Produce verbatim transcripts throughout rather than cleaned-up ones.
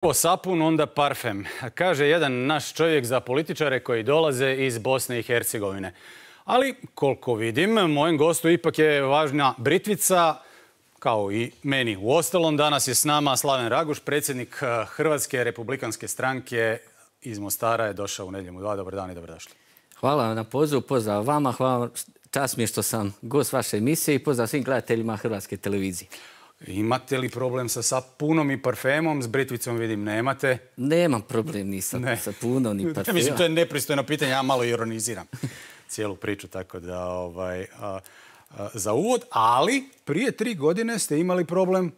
Prvo sapun, onda parfem, kaže jedan naš čovjek za političare koji dolaze iz Bosne i Hercegovine. Ali, koliko vidim, mojem gostu ipak je važna britvica, kao i meni. Uostalom, danas je s nama Slaven Raguž, predsjednik Hrvatske republikanske stranke iz Mostara, je došao u Nedjelju u dva. Dobar dan i dobrodošli. Hvala vam na pozivu, pozdrav vama, hvala, čast mi je što sam gost vaše emisije i pozdrav svim gledateljima Hrvatske televizije. Imate li problem sa sapunom i parfemom? S britvicom vidim nemate. Nemam problem ni sa sapunom ni parfemom. Mislim, to je nepristojno pitanje, ja malo ironiziram cijelu priču, tako da ovaj, a, a, za uvod. Ali prije tri godine ste imali problem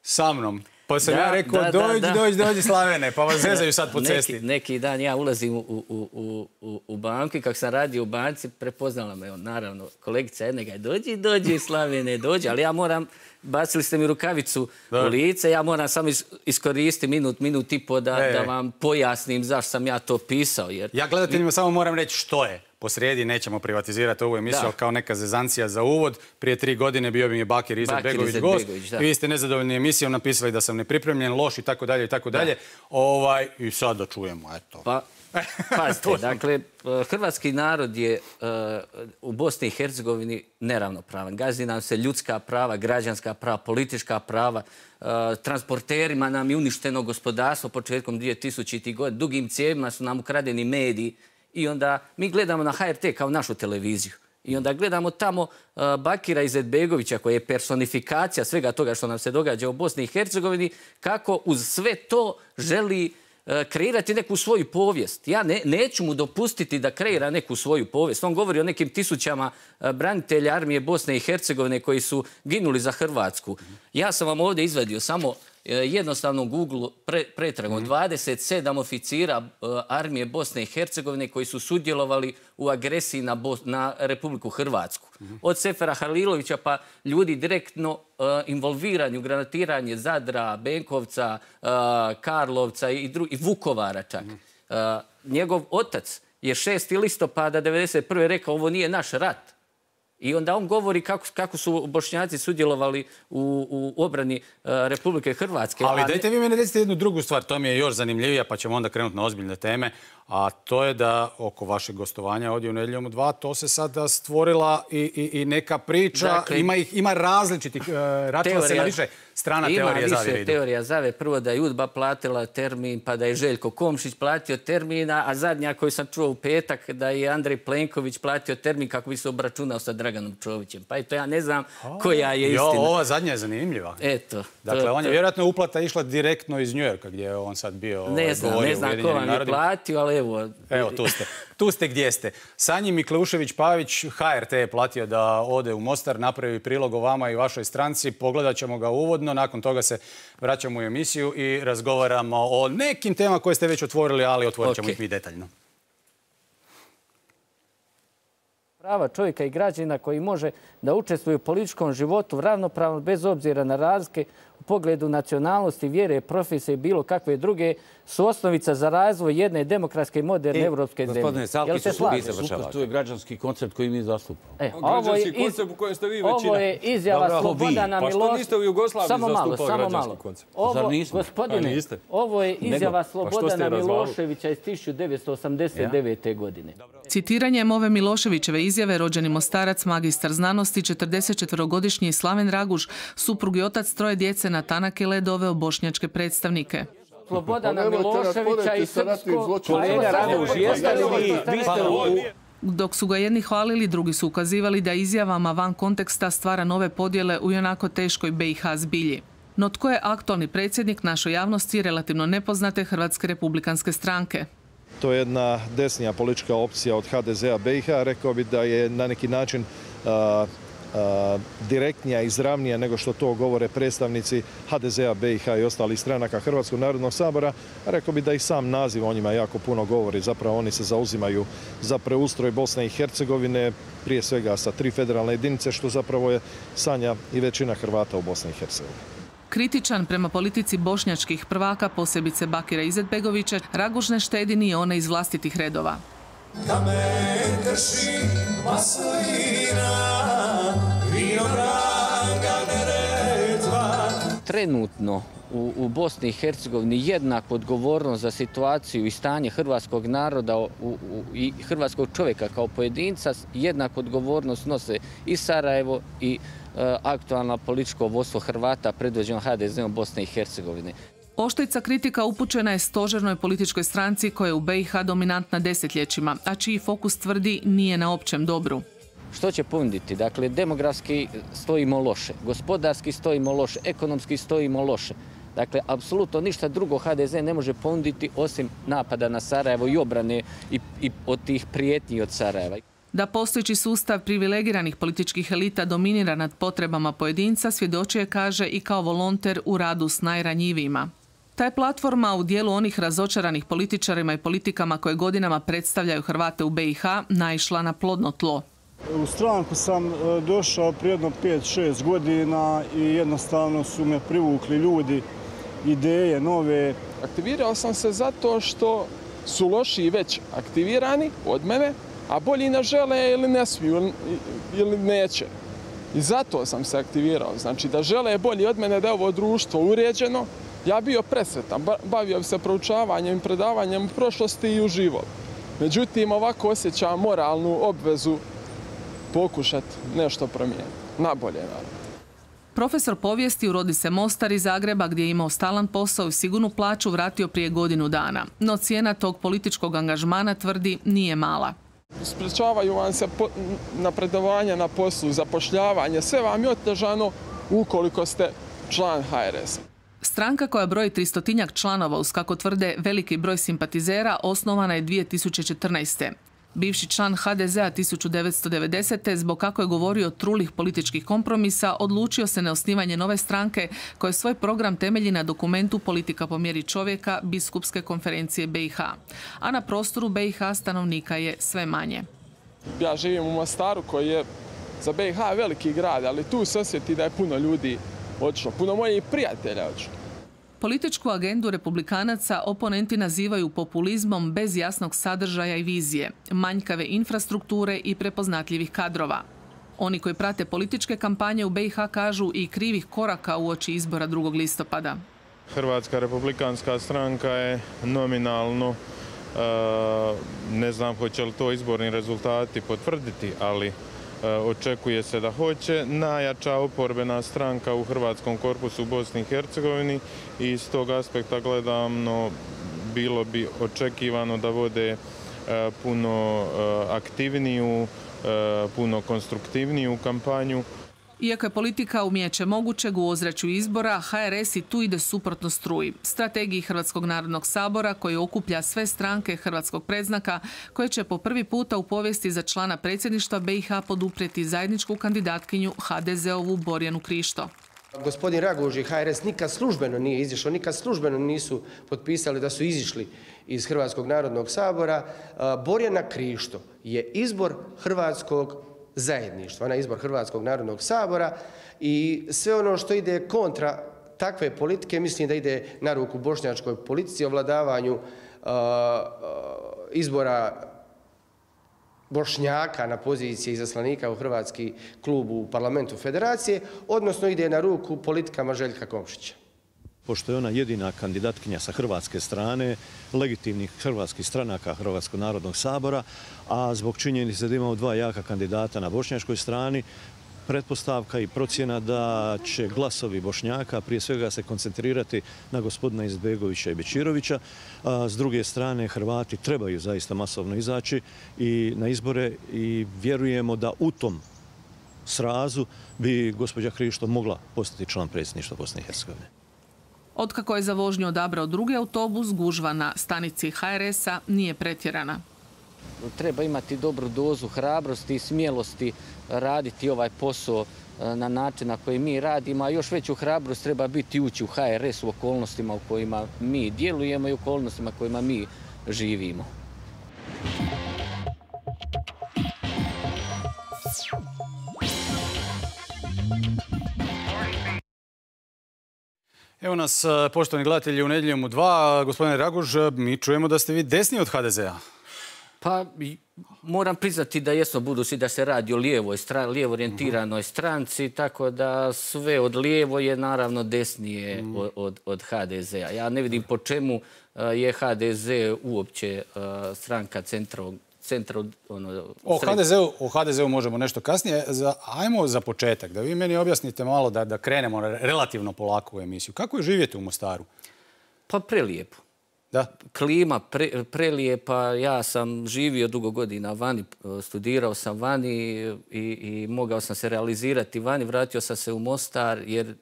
sa mnom. Pa sam da, ja rekao, da, dođi, da, dođi, dođi Slavene, pa vas zezaju sad po cesti. Neki, neki dan ja ulazim u, u, u, u, u banku i kako sam radio u banci, prepoznala me, naravno, kolegica jednega, dođi, dođi Slavene, dođi, ali ja moram, bacili ste mi rukavicu da. u lice, ja moram samo iskoristiti minut, minut i po da, da vam pojasnim zašto sam ja to pisao. Jer... Ja gledateljima samo moram reći što je. Posrijedi nećemo privatizirati ovu emisiju, ali kao neka zezancija za uvod. Prije tri godine bio bi mi Bakir Izetbegović gost. I vi ste nezadovoljni emisijom napisali da sam nepripremljen, loš i tako dalje i tako dalje. Ovaj, I sad da čujemo, eto. Pa, pazite, dakle, hrvatski narod je uh, u Bosni i Hercegovini neravnopravan. Gazi nam se ljudska prava, građanska prava, politička prava. Uh, transporterima nam je uništeno gospodarstvo početkom dvije tisućitih godina. Dugim cijevima su nam ukradeni mediji. I onda mi gledamo na H R T kao našu televiziju. I onda gledamo tamo uh, Bakira Izetbegovića koji je personifikacija svega toga što nam se događa u Bosni i Hercegovini, kako uz sve to želi uh, kreirati neku svoju povijest. Ja ne, neću mu dopustiti da kreira neku svoju povijest. On govori o nekim tisućama uh, branitelja armije Bosne i Hercegovine koji su ginuli za Hrvatsku. Ja sam vam ovdje izvadio samo jednostavno Google pre, pretragom mm-hmm. dvadeset sedam oficira uh, armije Bosne i Hercegovine koji su sudjelovali u agresiji na, Bos na Republiku Hrvatsku. Mm-hmm. Od Sefera Halilovića pa ljudi direktno uh, involvirani u granatiranje Zadra, Benkovca, uh, Karlovca i, i Vukovara čak. Mm-hmm. uh, njegov otac je šestog listopada devedeset prve rekao ovo nije naš rat. I onda on govori kako, kako su Bošnjaci sudjelovali u, u obrani uh, Republike Hrvatske. Ali a dajte vi meni recite jednu drugu stvar, to mi je još zanimljivija, pa ćemo onda krenuti na ozbiljne teme. A to je da oko vašeg gostovanja ovdje u Nedjeljom u dva, to se sada stvorila i, i, i neka priča. Dakle, ima, ih, ima različitih, uh, računa se na više strana teorije zavere. Ima više teorija zavere. Prvo da je UDBA platila termin, pa da je Željko Komšić platio termina, a zadnja koju sam čuo u petak da je Andrej Plenković platio termin kako bi se obračunao sa Draganom Čovićem. Pa to ja ne znam a, koja je istina. Jo, ova zadnja je zanimljiva. Eto. Dakle, to, on je to... vjerojatno uplata išla direktno iz Njujorka gdje je on sad bio. Ne znam, govorio, ne znam ko vam je platio, ali evo... Evo, tu ste. Tu ste gdje ste. Sanji Mikleušević-Pavić, H R T je platio da ode u Mostar, napravi prilog o vama i vašoj stranci. Pogledat ćemo ga uvodno, nakon toga se vraćamo u emisiju i razgovaramo o nekim temama koje ste već otvorili, ali otvorit ćemo okay. ih mi detaljno. Prava čovjeka i građana koji može da učestvuje u političkom životu ravnopravno bez obzira na razlike u pogledu nacionalnosti, vjere, profesije i bilo kakve druge su osnovica za razvoj jedne demokratske i moderne e, evropske zemlje. Gospodine Salkić, super, to je građanski koncept koji mi zastupamo. E, građanski iz, koncept u kojem ste vi većina. Ovo je izjava Dobro, Slobodana Miloševića. Pa što niste u Jugoslaviji samo zastupao malo, građanski koncept? Ovo, gospodine, ovo je izjava Nego, Slobodana pa Miloševića iz tisuću devetsto osamdeset devete. Ja? godine. Citiranjem ove Miloševićeve izjave rođeni Mostarac, magistar znanosti, četrdesetčetverogodišnji Slaven Raguž, suprug i otac troje djece na tanake led doveo bošnjačke predstavnike. Slobodana Miloševića i srpsko... Kolega Raguž, jeste li vi... vi ste u... Dok su ga jedni hvalili, drugi su ukazivali da izjavama van konteksta stvara nove podjele u onako teškoj B i H zbilji. No tko je aktualni predsjednik našoj javnosti relativno nepoznate Hrvatske republikanske stranke? To je jedna desnija politička opcija od H D Z-a B i H. Rekao bi da je na neki način uh, uh, direktnija, izravnija nego što to govore predstavnici H D Z-a B i H i ostalih stranaka Hrvatskog narodnog sabora. Rekao bi da i sam naziv o njima jako puno govori. Zapravo oni se zauzimaju za preustroj Bosne i Hercegovine, prije svega sa tri federalne jedinice, što zapravo je sanja i većina Hrvata u Bosni i Hercegovini. Kritičan prema politici bošnjačkih prvaka, posebice Bakira Izetbegovića, Raguž ne štedi ni one iz vlastitih redova. Kamen krši maslina, vino vraga Neretva, trenutno u, u Bosni i Hercegovini jednaku odgovornost za situaciju i stanje hrvatskog naroda u, u, i hrvatskog čovjeka kao pojedinca, jednaku odgovornost nose i Sarajevo i e, aktualno političko vodstvo Hrvata predvođeno ha de zeom Bosne i Hercegovine. Oštrica kritika upućena je stožernoj političkoj stranci koja je u be i ha dominantna desetljećima, a čiji fokus tvrdi nije na općem dobru. Što će ponuditi? Dakle, demografski stojimo loše, gospodarski stojimo loše, ekonomski stojimo loše. Dakle, apsolutno ništa drugo ha de ze ne može ponuditi osim napada na Sarajevo i obrane i, i od tih prijetnji od Sarajeva. Da postojeći sustav privilegiranih političkih elita dominira nad potrebama pojedinca, svjedočio kaže i kao volonter u radu s najranjivijima. Ta je platforma u dijelu onih razočaranih političarima i politikama koje godinama predstavljaju Hrvate u be i ha naišla na plodno tlo. U stranku sam došao prije jedno pet šest godina i jednostavno su me privukli ljudi, ideje nove. Aktivirao sam se zato što su lošiji već aktivirani od mene, a bolji ne žele ili ne smiju ili neće. I zato sam se aktivirao. Znači da žele bolji od mene, da je ovo društvo uređeno. Ja bio presretan, bavio bi se proučavanjem i predavanjem u prošlosti i uživo. Međutim, ovako osjećam moralnu obvezu pokušati nešto promijeniti. Nabolje, naravno. Profesor povijesti u rodi se Mostar iz Zagreba, gdje je imao stalan posao i sigurnu plaću, vratio prije godinu dana. No cijena tog političkog angažmana, tvrdi, nije mala. Sprečavaju vam se napredovanje na poslu, zapošljavanje, sve vam je otežano ukoliko ste član ha er esa. Stranka koja broji tristotinjak članova uz, kako tvrde, veliki broj simpatizera osnovana je dvije tisuće četrnaeste. Bivši član ha de zea tisuću devetsto devedesete zbog, kako je govorio, trulih političkih kompromisa odlučio se na osnivanje nove stranke koja svoj program temelji na dokumentu Politika po mjeri čovjeka Biskupske konferencije be i ha. A na prostoru be i ha stanovnika je sve manje. Ja živim u Mostaru koji je za be i ha veliki grad, ali tu se osjeti da je puno ljudi odšlo, puno mojih prijatelja odšlo. Političku agendu republikanaca oponenti nazivaju populizmom bez jasnog sadržaja i vizije, manjkave infrastrukture i prepoznatljivih kadrova. Oni koji prate političke kampanje u be i ha kažu i krivih koraka uoči izbora drugog listopada. Hrvatska republikanska stranka je nominalno, ne znam hoće li to izborni rezultati potvrditi, ali očekuje se da hoće, najjača oporbena stranka u hrvatskom korpusu u Bosni i Hercegovini i iz tog aspekta gledano bilo bi očekivano da vode puno aktivniju, puno konstruktivniju kampanju. Iako je politika umijeće mogućeg u ozračju izbora, ha er es i tu ide suprotno struji. Strategiji Hrvatskog narodnog sabora koji okuplja sve stranke hrvatskog predznaka koje će po prvi puta u povijesti za člana predsjedništva be i ha poduprijeti zajedničku kandidatkinju ha de zeovu Borjanu Krišto. Gospodin Raguž i ha er es nikad službeno nije izišao, nikad službeno nisu potpisali da su izišli iz Hrvatskog narodnog sabora. Borjana Krišto je izbor hrvatskog zajedništva, ona je izbor Hrvatskog narodnog sabora i sve ono što ide kontra takve politike mislim da ide na ruku bošnjačkoj politici, ovladavanju uh, izbora Bošnjaka na pozicije izaslanika u Hrvatski klub u parlamentu federacije, odnosno ide na ruku politikama Željka Komšića. Pošto je ona jedina kandidatkinja sa hrvatske strane, legitimnih hrvatskih stranaka Hrvatskog narodnog sabora, a zbog činjenice da imamo dva jaka kandidata na bošnjačkoj strani, pretpostavka i procjena da će glasovi Bošnjaka prije svega se koncentrirati na gospodina Izetbegovića i Bećirovića. A s druge strane, Hrvati trebaju zaista masovno izaći i na izbore i vjerujemo da u tom srazu bi gospođa Krišto mogla postati član predsjedništva Bosne i Hercegovine. Otkako je za vožnju odabrao drugi autobus, gužva na stanici ha er esa nije pretjerana. Treba imati dobru dozu hrabrosti i smjelosti raditi ovaj posao na način na koji mi radimo, a još veću hrabrost treba biti ući u ha er es u okolnostima u kojima mi djelujemo i u okolnostima u kojima mi živimo. Evo nas, poštovani gledatelji, u Nedjeljom u dva. Gospodine Raguž, mi čujemo da ste vi desni od ha de zea. Pa Moram priznati da jesmo, budući da se radi o lijevoj, lijevo orijentiranoj stranci, tako da sve od lijevo je naravno desnije od, od, od ha de zea. Ja ne vidim po čemu je ha de ze uopće stranka centra. centra ono, o, ha de zeu, o ha de zeu možemo nešto kasnije. Za, ajmo za početak, da vi meni objasnite malo da, da krenemo relativno polako u emisiju. Kako je živjeti u Mostaru? Pa prelijepo. Da? Klima pre, prelijepa, ja sam živio dugo godina vani, studirao sam vani i, i mogao sam se realizirati vani, vratio sam se u Mostar jer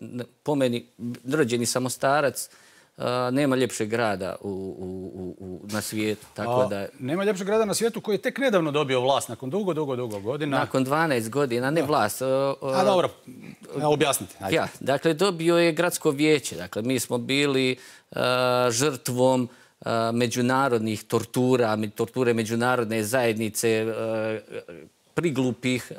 po meni, rođeni sam Mostarac, a, nema ljepšeg grada u, u, u, na svijetu. Tako a, da, nema ljepšeg grada na svijetu koji je tek nedavno dobio vlast, nakon dugo, dugo, dugo godina. Nakon dvanaest godina, ne vlast. A, a dobro, a, objasnite. Ajde. Ja, dakle, dobio je gradsko vijeće. Dakle, mi smo bili a, žrtvom međunarodnih tortura, torture međunarodne zajednice, priglupih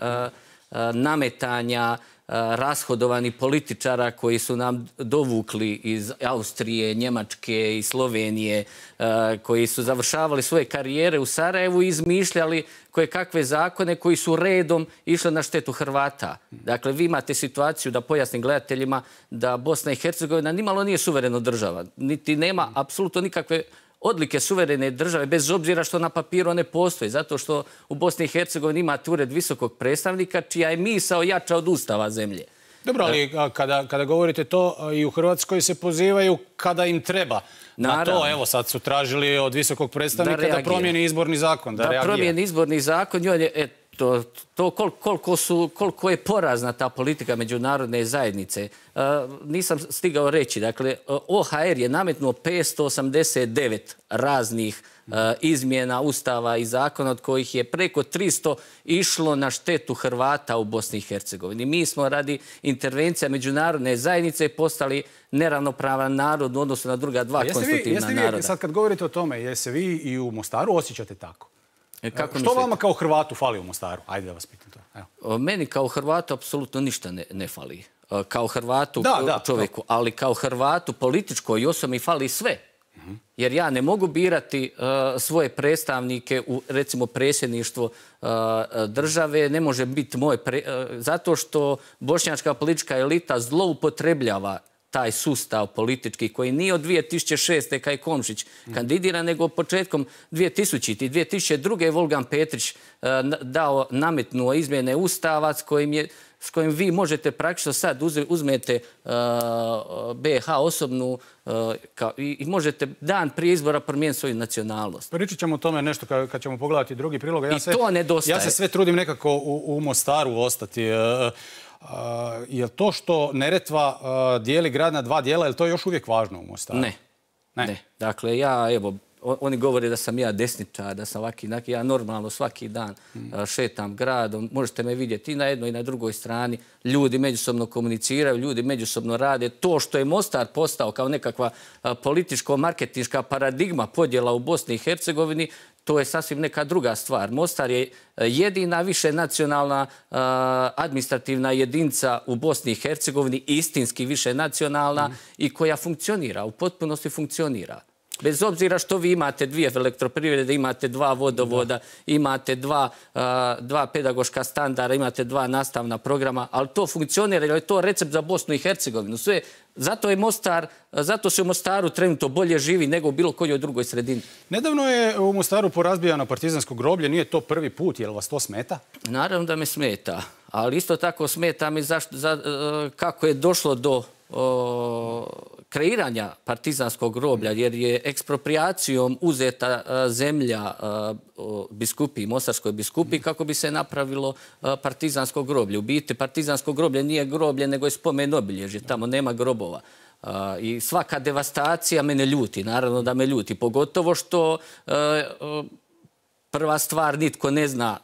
nametanja, rashodovanih političara koji su nam dovukli iz Austrije, Njemačke i Slovenije, koji su završavali svoje karijere u Sarajevu i izmišljali koje kakve zakone koji su redom išli na štetu Hrvata. Dakle, vi imate situaciju, da pojasnim gledateljima, da Bosna i Hercegovina nimalo nije suverena država, niti nema apsolutno nikakve odlike suverene države, bez obzira što na papiru ne postoji, zato što u Bosni i Hercegovini imate ured visokog predstavnika, čija je misao jača od ustava zemlje. Dobro, ali kada, kada govorite to, i u Hrvatskoj se pozivaju kada im treba. Na to, evo, sad su tražili od visokog predstavnika da, da promijeni izborni zakon. Da, da reagira. promijeni izborni zakon i on je... E, To, to kol, koliko, su, koliko je porazna ta politika međunarodne zajednice. Uh, nisam stigao reći. Dakle, o ha er je nametnuo petsto osamdeset devet raznih uh, izmjena ustava i zakona, od kojih je preko tristo išlo na štetu Hrvata u Bosni i Hercegovini. Mi smo radi intervencija međunarodne zajednice postali neravnopravan narod u odnosu na druga dva konstitutivna jeste vi, naroda. Sad kad govorite o tome, jeste vi i u Mostaru osjećate tako? Kako Što mislite? Vama kao Hrvatu fali u Mostaru? Ajde da vas pitam to. Evo. Meni kao Hrvatu apsolutno ništa ne, ne fali. Kao Hrvatu da, da, čovjeku, to. Ali kao Hrvatu političkoj i osobi fali sve. Uh-huh. Jer ja ne mogu birati uh, svoje predstavnike u, recimo, predsjedništvo uh, države. Ne može biti moj... Pre, uh, zato što bošnjačka politička elita zloupotrebljava taj sustav politički koji nije od dvije tisuće šeste kad je Komšić kandidira, nego početkom dvije tisućite. dvije tisuće druge. je Volgan Petrić uh, dao, nametnuo izmjene ustava s kojim, je, s kojim vi možete praktično sad uze, uzmete uh, be ha osobnu uh, kao, i, i možete dan prije izbora promijeniti svoju nacionalnost. Pričat ćemo o tome nešto kad, kad ćemo pogledati drugi prilog. Ja I se, to nedostaje. Ja se sve trudim nekako u, u Mostaru ostati. Uh, Uh, je li to što Neretva uh, dijeli grad na dva dijela, je li to još uvijek važno u Mostaru? Ne. Ne. ne. Dakle, ja, evo, oni govore da sam ja desničar, da sam ovaki, ja normalno svaki dan mm. uh, šetam gradom. Možete me vidjeti i na jednoj i na drugoj strani. Ljudi međusobno komuniciraju, ljudi međusobno rade. To što je Mostar postao kao nekakva uh, političko-marketinška paradigma podjela u Bosni i Hercegovini, to je sasvim neka druga stvar. Mostar je jedina više nacionalna uh, administrativna jedinica u Bosni i Hercegovini, istinski više nacionalna mm. i koja funkcionira, u potpunosti funkcionira. Bez obzira što vi imate dvije elektroprivrede, imate dva vodovoda, da. imate dva, uh, dva pedagoška standarda, imate dva nastavna programa, ali to funkcionira, jer je to recept za Bosnu i Hercegovinu. Sve, zato je Mostar, zato se u Mostaru trenutno bolje živi nego u bilo kojoj drugoj sredini. Nedavno je u Mostaru porazbijano partizansko groblje, nije to prvi put, je li vas to smeta? Naravno da me smeta, ali isto tako smeta mi zašto, za, uh, kako je došlo do o, kreiranja partizanskog groblja, jer je ekspropriacijom uzeta a, zemlja a, o, biskupiji, Mostarskoj biskupiji, kako bi se napravilo a, partizansko groblje. U biti, partizansko groblje nije groblje, nego je spomen obilježje. Tamo nema grobova. A, I svaka devastacija mene ljuti, naravno da me ljuti. Pogotovo što a, a, prva stvar nitko ne zna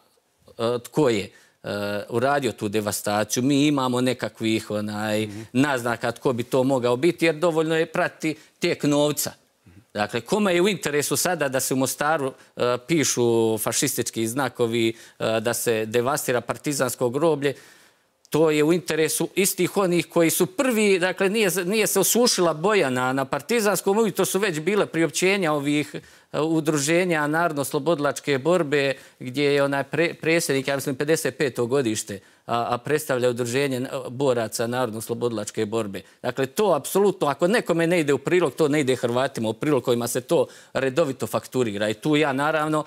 a, tko je Uh, uradio tu devastaciju. Mi imamo nekakvih onaj, mm-hmm. naznaka tko bi to mogao biti, jer dovoljno je prati tijek novca. Mm-hmm. Dakle, kome je u interesu sada da se u Mostaru uh, pišu fašistički znakovi, uh, da se devastira partizansko groblje, to je u interesu istih onih koji su prvi, dakle, nije, nije se osušila boja na, na partizanskom, to su već bile priopćenja ovih udruženja Narodno-slobodilačke borbe gdje je onaj predsjednik, ja mislim, pedeset peto godište, a predstavlja udruženje boraca Narodno-slobodilačke borbe. Dakle, to apsolutno, ako nekome ne ide u prilog, to ne ide Hrvatima u prilog kojima se to redovito fakturira. I tu ja, naravno,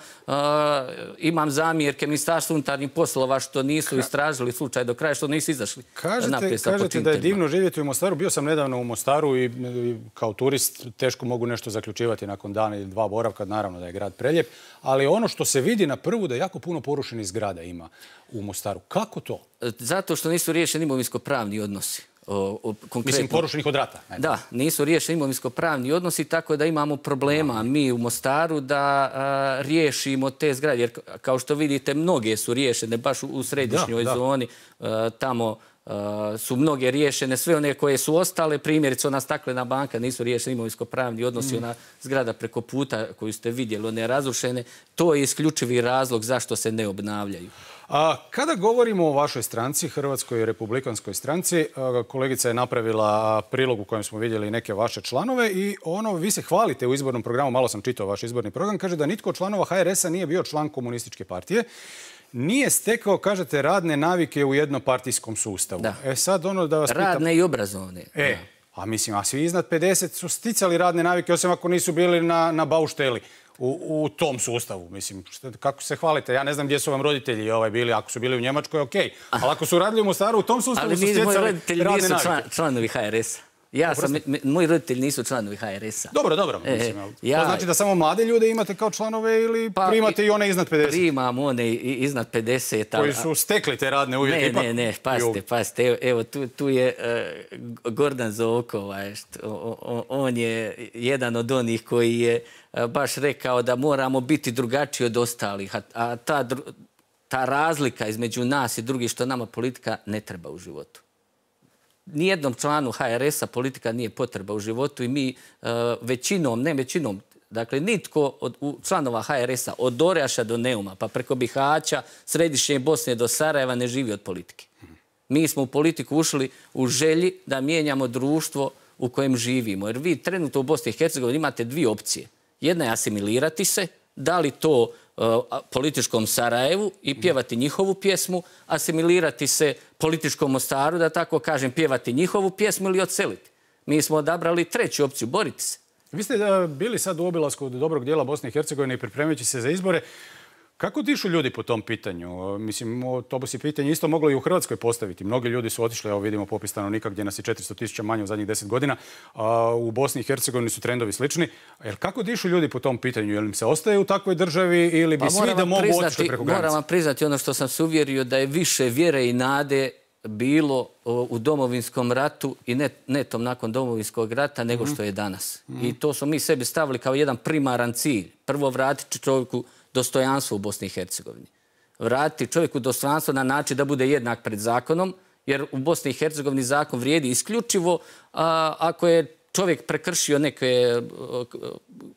imam zamjerke Ministarstvu unutarnjih poslova što nisu istražili slučaj do kraja, što nisu izašli naprijed sa počiniteljima. Kažete da je divno živjeti u Mostaru. Bio sam nedavno u Mostaru i kao turist teško mogu nešto zaključivati nakon dana ili dva boravka. Naravno da je grad prelijep. Ali ono što se vidi na prvu da jako puno porušenih zgrada ima u Mostaru. Kako to? Zato što nisu riješeni imovinsko-pravni odnosi. Mislim, porušenih od rata. Da, nisu riješeni imovinsko-pravni odnosi, tako da imamo problema mi u Mostaru da riješimo te zgrade. Jer kao što vidite, mnoge su riješene baš u središnjoj zoni. Tamo su mnoge riješene, sve one koje su ostale, primjerice ona staklena banka, nisu riješeni imovinsko-pravni odnosi, ona zgrada preko puta koju ste vidjeli, one razrušene, to je isključivi razlog zašto se ne obnavljaju. A kada govorimo o vašoj stranci, Hrvatskoj republikanskoj stranci, kolegica je napravila prilog u kojem smo vidjeli neke vaše članove i ono, vi se hvalite u izbornom programu, malo sam čitao vaš izborni program, kaže da nitko od članova H R S-a nije bio član komunističke partije. Nije stekao, kažete, radne navike u jednopartijskom sustavu. Da. E sad ono da vas pitam... Radne i obrazovne. E, a mislim, a svi iznad pedeset su sticali radne navike, osim ako nisu bili na, na baušteli u, u tom sustavu. Mislim, šta, kako se hvalite? Ja ne znam gdje su vam roditelji ovaj, bili, ako su bili u Njemačkoj, okej. Okay. Ali ako su radili u Mostaru, u tom sustavu ali su stjecali radne navike. Ali nisu član, članovi H R S-a. Ja sam, moji roditelji nisu članovi H R S-a. Dobro, dobro. Mislim, e, ja, to znači da samo mlade ljude imate kao članove ili pa, primate i one iznad pedeset? Primam one iznad pedeset. Koji su stekli te radne uvjete? Ne, ipak. ne, ne, pazite, pazite. Evo, evo tu, tu je uh, Gordan Zoko, on je jedan od onih koji je uh, baš rekao da moramo biti drugačiji od ostalih, a, a ta, ta razlika između nas i drugih što nama politika ne treba u životu. Nijednom članu H R S-a politika nije potreba u životu i mi uh, većinom, ne većinom, dakle nitko od u članova H R S-a od Orjaša do Neuma, pa preko Bihaća, središnje Bosne do Sarajeva ne živi od politike. Mi smo u politiku ušli u želji da mijenjamo društvo u kojem živimo. Jer vi trenutno u Bosni i Hercegovini imate dvije opcije. Jedna je asimilirati se, da li to političkom Sarajevu i pjevati njihovu pjesmu, asimilirati se političkom Mostaru, da tako kažem, pjevati njihovu pjesmu ili odseliti. Mi smo odabrali treću opciju, boriti se. Vi ste bili sad u obilasku dobrog dijela Bosne i Hercegovine i pripremajući se za izbore. Kako dišu ljudi po tom pitanju? Mislim, to bi se pitanje isto moglo i u Hrvatskoj postaviti. Mnogi ljudi su otišli, evo vidimo popis stanovnika gdje nas je četiristo tisuća manje u zadnjih deset godina. A u Bosni i Hercegovini su trendovi slični. Jer kako dišu ljudi po tom pitanju? Jel im se ostaje u takvoj državi ili bi pa svi da mogu otišli preko granice? Moram vam priznati ono što sam se uvjerio da je više vjere i nade bilo u domovinskom ratu i netom nakon domovinskog rata nego što je danas. I to smo mi sebi stavili kao jedan primaran cilj. Prvo vratiti čovjeku dostojanstvo u Bosni i Hercegovini. Vratiti čovjeku dostojanstvo na način da bude jednak pred zakonom, jer u Bosni i Hercegovini zakon vrijedi isključivo a, ako je čovjek prekršio neke a,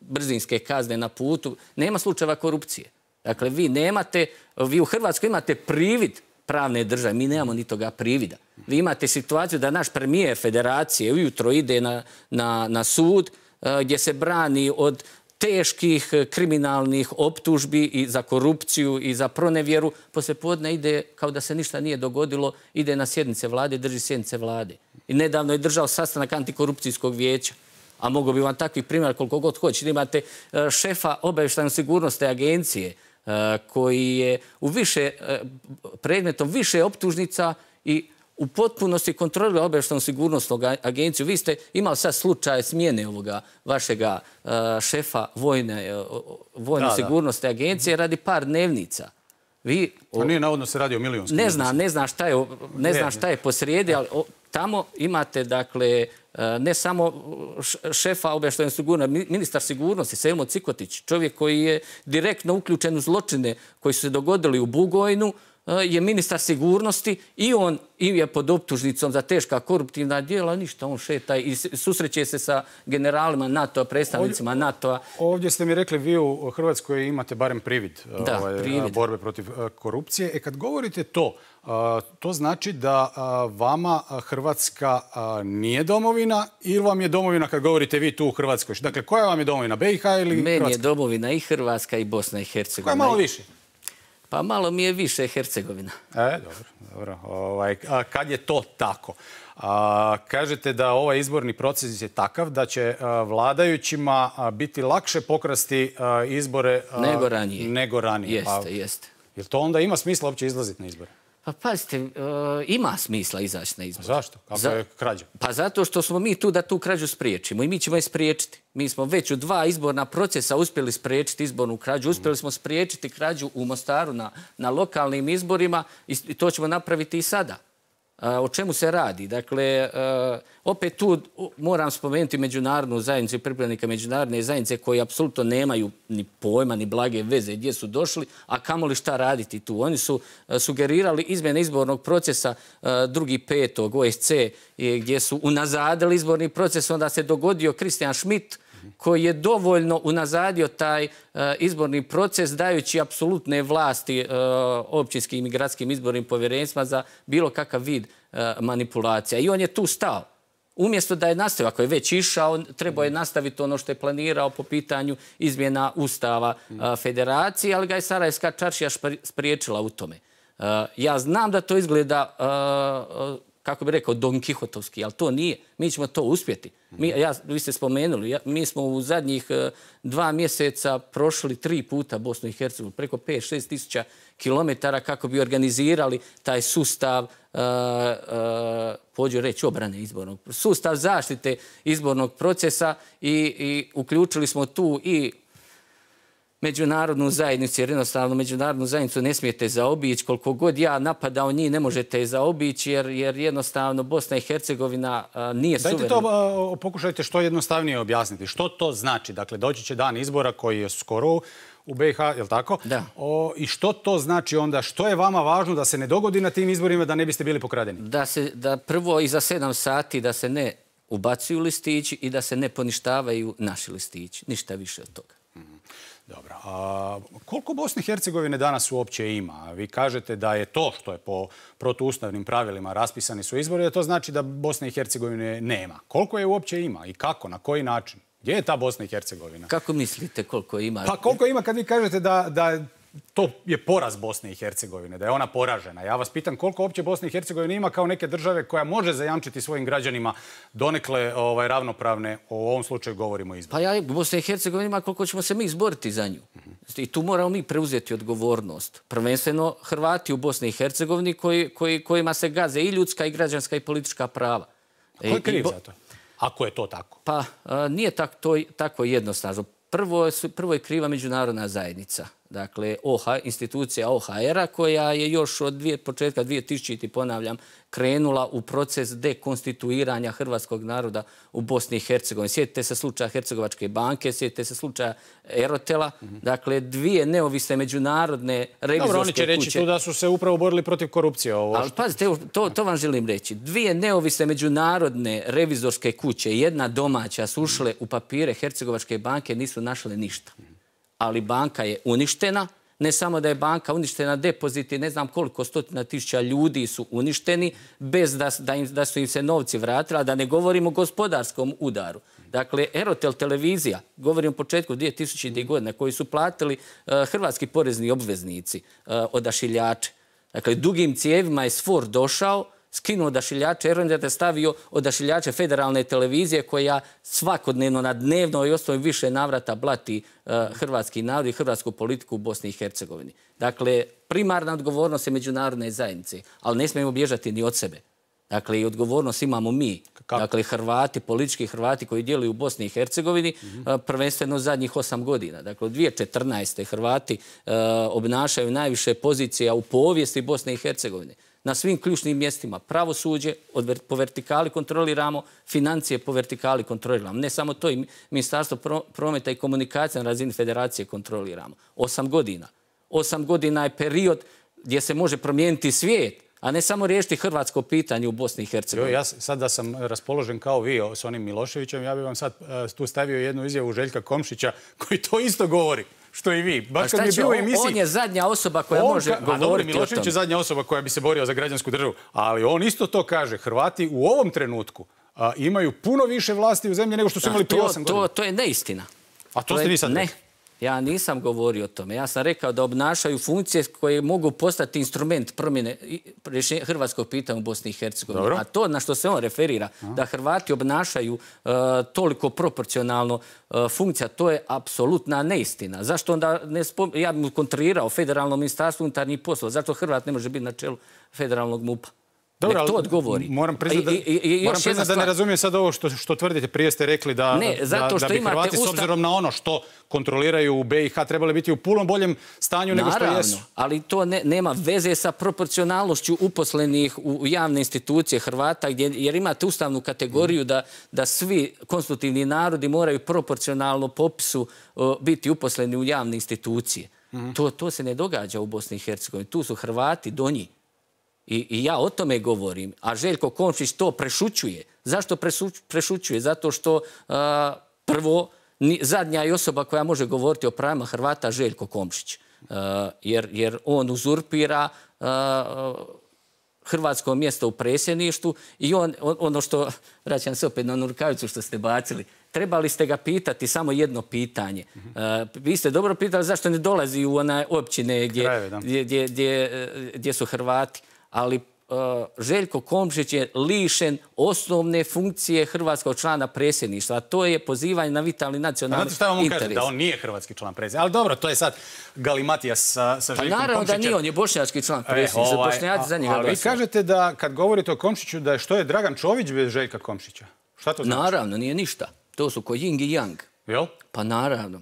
brzinske kazne na putu. Nema slučajeva korupcije. Dakle, vi nemate, vi u Hrvatskoj imate privid pravne države. Mi nemamo ni toga privida. Vi imate situaciju da naš premijer federacije ujutro ide na, na, na sud a, gdje se brani od teških kriminalnih optužbi i za korupciju i za pronevjeru. Poslijepodne ide, kao da se ništa nije dogodilo, ide na sjednice vlade, drži sjednice vlade. I nedavno je držao sastanak antikorupcijskog vijeća. A mogu bi vam takvih primjera koliko god hoće. Imate šefa obavještajno sigurnosne agencije koji je u više predmetom više optužnica i u potpunosti kontrolira obavještajnu sigurnosnog agenciju. Vi ste imali sad slučaj smjene ovoga vašega uh, šefa vojne, uh, vojne sigurnosne agencije radi par dnevnica. Vi, o, A nije navodno se radi o milijunskom. Ne znam, ne znam šta je, ne znam šta je posrijedi, ali o, tamo imate, dakle, uh, ne samo šefa obavještajne sigurnosti, ministar sigurnosti, Selmo Cikotić, čovjek koji je direktno uključen u zločine koji su se dogodili u Bugojnu, je ministar sigurnosti i on je pod optužnicom za teška koruptivna djela, ništa, on šeta i susreće se sa generalima NATO-a, predstavnicima NATO-a. Ovdje ste mi rekli, vi u Hrvatskoj imate barem privid, da, ovaj, privid. borbe protiv korupcije. E kad govorite to, to znači da vama Hrvatska nije domovina ili vam je domovina kad govorite vi tu u Hrvatskoj? Dakle, koja vam je domovina? B i H ili Hrvatska? Meni je domovina i Hrvatska i Bosna i Hercegovina. Koja je malo više? Pa malo mi je više Hercegovina. E, dobro, dobro. Ovaj, a kad je to tako? A, kažete da ovaj izborni proces je takav da će a, vladajućima a, biti lakše pokrasti a, izbore a, nego ranije. Nego ranije. Jeste, pa, jeste. Jel to onda ima smisla uopće izlaziti na izbore? Pa pazite, uh, ima smisla izaći na izbore. Zašto? Kako Za... je krađa? Pa zato što smo mi tu da tu krađu spriječimo i mi ćemo je spriječiti. Mi smo već u dva izborna procesa uspjeli spriječiti izbornu krađu. Uspjeli smo spriječiti krađu u Mostaru na, na lokalnim izborima i to ćemo napraviti i sada. O čemu se radi? Dakle, opet tu moram spomenuti međunarodnu zajednicu i pripadnika međunarodne zajednice koji apsolutno nemaju ni pojma, ni blage veze gdje su došli, a kamoli šta raditi tu. Oni su sugerirali izmjene izbornog procesa drugi petog O S C gdje su unazadili izborni proces, onda se dogodio Christian Schmidt koji je dovoljno unazadio taj uh, izborni proces dajući apsolutne vlasti uh, općinskim i gradskim izbornim povjerenstvima za bilo kakav vid uh, manipulacija. I on je tu stao. Umjesto da je nastavio, ako je već išao, trebao je nastaviti ono što je planirao po pitanju izmjena ustava uh, federacije, ali ga je Sarajevska čaršija spriječila u tome. Uh, ja znam da to izgleda uh, kako bi rekao, Don Kihotovski, ali to nije. Mi ćemo to uspjeti. Mi, ja, vi ste spomenuli, ja, mi smo u zadnjih uh, dva mjeseca prošli tri puta Bosnu i Hercegovinu, preko pet do šest tisuća kilometara kako bi organizirali taj sustav, uh, uh, pođu reći, obrane izbornog, sustav zaštite izbornog procesa i, i uključili smo tu i međunarodnu zajednicu, jer jednostavno međunarodnu zajednicu ne smijete zaobići. Koliko god ja napadao njih, ne možete je zaobići, jer, jer jednostavno Bosna i Hercegovina a, nije suverena. Dajte to, a, pokušajte što jednostavnije objasniti. Što to znači? Dakle, doći će dan izbora koji je skoro u B i H, je li tako? Da. O, I što to znači onda? Što je vama važno da se ne dogodi na tim izborima da ne biste bili pokradeni? Da se, da prvo i za sedam sati da se ne ubacuju listići i da se ne poništavaju naši listići. Ništa više od toga. Mm-hmm. Dobro. A koliko Bosne i Hercegovine danas uopće ima? Vi kažete da je to što je po protuustavnim pravilima raspisani su izbori, da to znači da Bosne i Hercegovine nema. Koliko je uopće ima i kako, na koji način? Gdje je ta Bosna i Hercegovina? Kako mislite koliko ima? Pa koliko ima kad vi kažete da, da to je poraz Bosne i Hercegovine, da je ona poražena. Ja vas pitam koliko uopće Bosne i Hercegovine ima kao neke države koja može zajamčiti svojim građanima donekle ovaj, ravnopravne, u ovom slučaju govorimo o izboru. Pa ja, Bosna i Hercegovina ima koliko ćemo se mi izboriti za nju. I tu moramo mi preuzeti odgovornost. Prvenstveno Hrvati u Bosni i Hercegovini koji, koji, kojima se gaze i ljudska i građanska i politička prava. A ko je kriv za to? Ako je to tako? Pa a, nije tak, to, tako jednostavno. Prvo, prvo je kriva međunarodna zajednica. Dakle, O H, institucija O H R-a koja je još od dvije, početka dvije tisućite. ponavljam, krenula u proces dekonstituiranja hrvatskog naroda u Bosni i Hercegovini. Sjetite se slučaja Hercegovačke banke, sjetite se slučaja Erotela. Mm-hmm. Dakle, dvije neovisne međunarodne revizorske kuće. Dobro, oni će reći tu da su se upravo borili protiv korupcije. Ovo ali pazite, to, to vam želim reći. Dvije neovisne međunarodne revizorske kuće, jedna domaća, su ušle u papire Hercegovačke banke, nisu našle ništa. Ali banka je uništena. Ne samo da je banka uništena, depoziti, ne znam koliko stotina tisuća ljudi su uništeni bez da, da, im, da su im se novci vratili, a da ne govorimo o gospodarskom udaru. Dakle, Erotel televizija, govorim o početku dvije tisućite. godine, koji su platili uh, hrvatski porezni obveznici uh, odašiljače. Dakle, dugim cijevima je Sfor došao, skinuo odašiljače, Erotel je stavio odašiljače federalne televizije koja svakodnevno na dnevnoj osnovi više navrata blati uh, hrvatski narod i hrvatsku politiku u Bosni i Hercegovini. Dakle, primarna odgovornost je međunarodne zajednice, ali ne smijemo bježati ni od sebe. Dakle, i odgovornost imamo mi. Kako? Dakle, Hrvati, politički Hrvati koji djeluju u Bosni i Hercegovini, mm-hmm. prvenstveno zadnjih osam godina. Dakle, od dvije tisuće četrnaeste. Hrvati uh, obnašaju najviše pozicija u povijesti Bosne i Hercegovine. Na svim ključnim mjestima. Pravosuđe od, po vertikali kontroliramo, financije po vertikali kontroliramo. Ne samo to, i Ministarstvo pro, prometa i komunikacije na razini federacije kontroliramo. Osam godina. Osam godina je period gdje se može promijeniti svijet, a ne samo riješiti hrvatsko pitanje u Bosni i Hercegovini. Ja sad da sam raspoložen kao vi s onim Miloševićem, ja bih vam sad tu stavio jednu izjavu Željka Komšića koji to isto govori. Što i vi. Baš kad je bio u emisiji... On je zadnja osoba koja on, može govoriti dobro, Milošević je zadnja osoba koja bi se borio za građansku državu. Ali on isto to kaže. Hrvati u ovom trenutku a, imaju puno više vlasti u zemlji nego što su imali prije osam godina. To, to je neistina. A to, to ste vi sad rekli? Ja nisam govorio o tome. Ja sam rekao da obnašaju funkcije koje mogu postati instrument promjene hrvatskog pitanja u Bosni i Hercegovini. A to na što se on referira, a? da Hrvati obnašaju uh, toliko proporcionalno uh, funkcija, to je apsolutna neistina. Zašto onda ne spom... Ja bih mu kontrirao federalno ministarstvo unutarnjih poslova. Zašto Hrvat ne može biti na čelu federalnog mupa? Dobro, nek to odgovori. Moram priznati da, I, i, i moram priznat da ne razumijem sad ovo što, što tvrdite. Prije ste rekli da, ne, zato što da, da bi Hrvati ustav... s obzirom na ono što kontroliraju u B i H trebali biti u puno boljem stanju nego što Naravno, jesu. Ali to ne, nema veze sa proporcionalnošću uposlenih u, u javne institucije Hrvata, gdje, jer imate ustavnu kategoriju mm. da, da svi konstitutivni narodi moraju proporcionalno popisu uh, biti uposleni u javne institucije. Mm. To, to se ne događa u Bosni i Hercegovini. Tu su Hrvati do njih. I, I ja o tome govorim, a Željko Komšić to prešućuje. Zašto prešućuje? Zato što uh, prvo, ni, zadnja je osoba koja može govoriti o pravima Hrvata Željko Komšić. Uh, jer, jer on uzurpira uh, hrvatsko mjesto u predsjedništvu i on, on, ono što, vraćam se opet na onu rukavicu što ste bacili, trebali ste ga pitati samo jedno pitanje. Uh, vi ste dobro pitali zašto ne dolazi u one općine gdje, Krajeve, gdje, gdje, gdje, gdje su Hrvati. Ali uh, Željko Komšić je lišen osnovne funkcije hrvatskog člana predsjedništva, a to je pozivanje na vitalni nacionalni interes. Znate šta vam on kaže? Da on nije hrvatski član predsjedništva. Ali dobro, to je sad galimatijas sa, sa Željkom Komšićem. Pa naravno da nije, on je bošnjački član predsjedništva. E, ovaj, Bošnjaci za njega ali vi kažete da kad govorite o Komšiću da je što je Dragan Čović bez Željka Komšića? Šta to znači? Naravno, nije ništa. To su ko Ying i Yang. Jel? Pa naravno.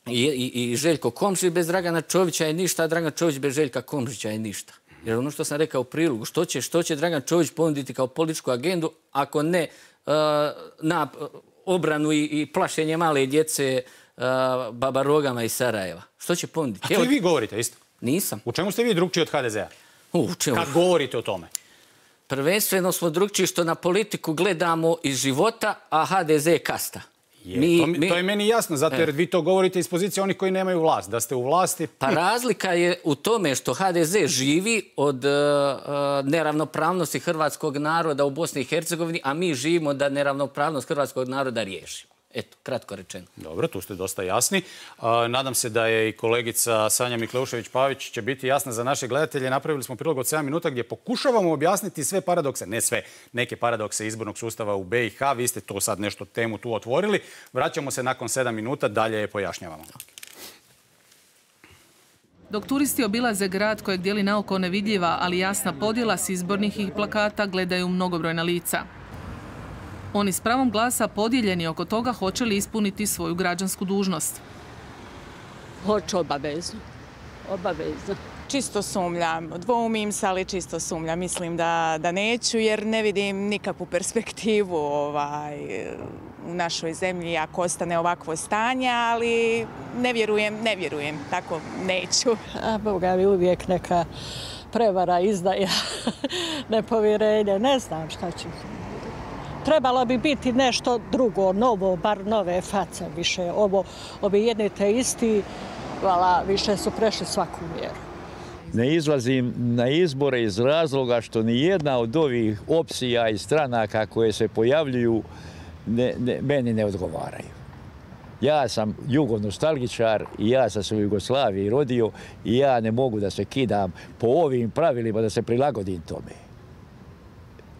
I, i, i Željko Komšić bez Dragana Čovića je ništa, a Dragan Čović bez Željka Komšića je ništa. Jer ono što sam rekao u prilogu, što će, što će Dragan Čović ponuditi kao političku agendu ako ne uh, na obranu i, i plašenje male djece uh, babarogama iz Sarajeva? Što će ponuditi? A to i vi govorite isto? Nisam. U čemu ste vi drugčiji od H D Z-a? U čemu? Kad govorite o tome? Prvenstveno smo drugčiji što na politiku gledamo iz života, a H D Z je kasta. Je, mi, to, mi, to je meni jasno, zato jer vi to govorite iz pozicije onih koji nemaju vlast. Da ste u vlasti... Pa razlika je u tome što H D Z živi od uh, neravnopravnosti hrvatskog naroda u Bosni i Hercegovini, a mi živimo da neravnopravnost hrvatskog naroda riješimo. Eto, kratko rečeno. Dobro, tu ste dosta jasni. Uh, nadam se da je i kolegica Sanja Mikleušević-Pavić će biti jasna za naše gledatelje. Napravili smo prilog od sedam minuta gdje pokušavamo objasniti sve paradokse, ne sve, neke paradokse izbornog sustava u B i H. Vi ste to sad nešto temu tu otvorili. Vraćamo se nakon sedam minuta, dalje je pojašnjavamo. Dok turisti obilaze grad kojeg dijeli naoko nevidljiva, ali jasna podjela s izbornih i plakata, gledaju mnogobrojna lica. Oni s pravom glasa podijeljeni oko toga hoće li ispuniti svoju građansku dužnost. Hoću obavezno. Obavezno. Čisto sumljam. Dvoumim se, ali čisto sumljam. Mislim da, da neću jer ne vidim nikakvu perspektivu ovaj, u našoj zemlji ako ostane ovakvo stanje, ali ne vjerujem, ne vjerujem. Tako neću. A Boga mi uvijek neka prevara, izdaja, nepovjerenje. Ne znam šta ću. Trebalo bi biti nešto drugo, novo, bar nove face više. Ovo, ovi jedni te isti, vala, više su prešli svaku mjeru. Ne izlazim na izbore iz razloga što ni jedna od ovih opcija i stranaka koje se pojavljuju ne, ne, meni ne odgovaraju. Ja sam jugonostalgičar i ja sam se u Jugoslaviji rodio i ja ne mogu da se kidam po ovim pravilima da se prilagodim tome.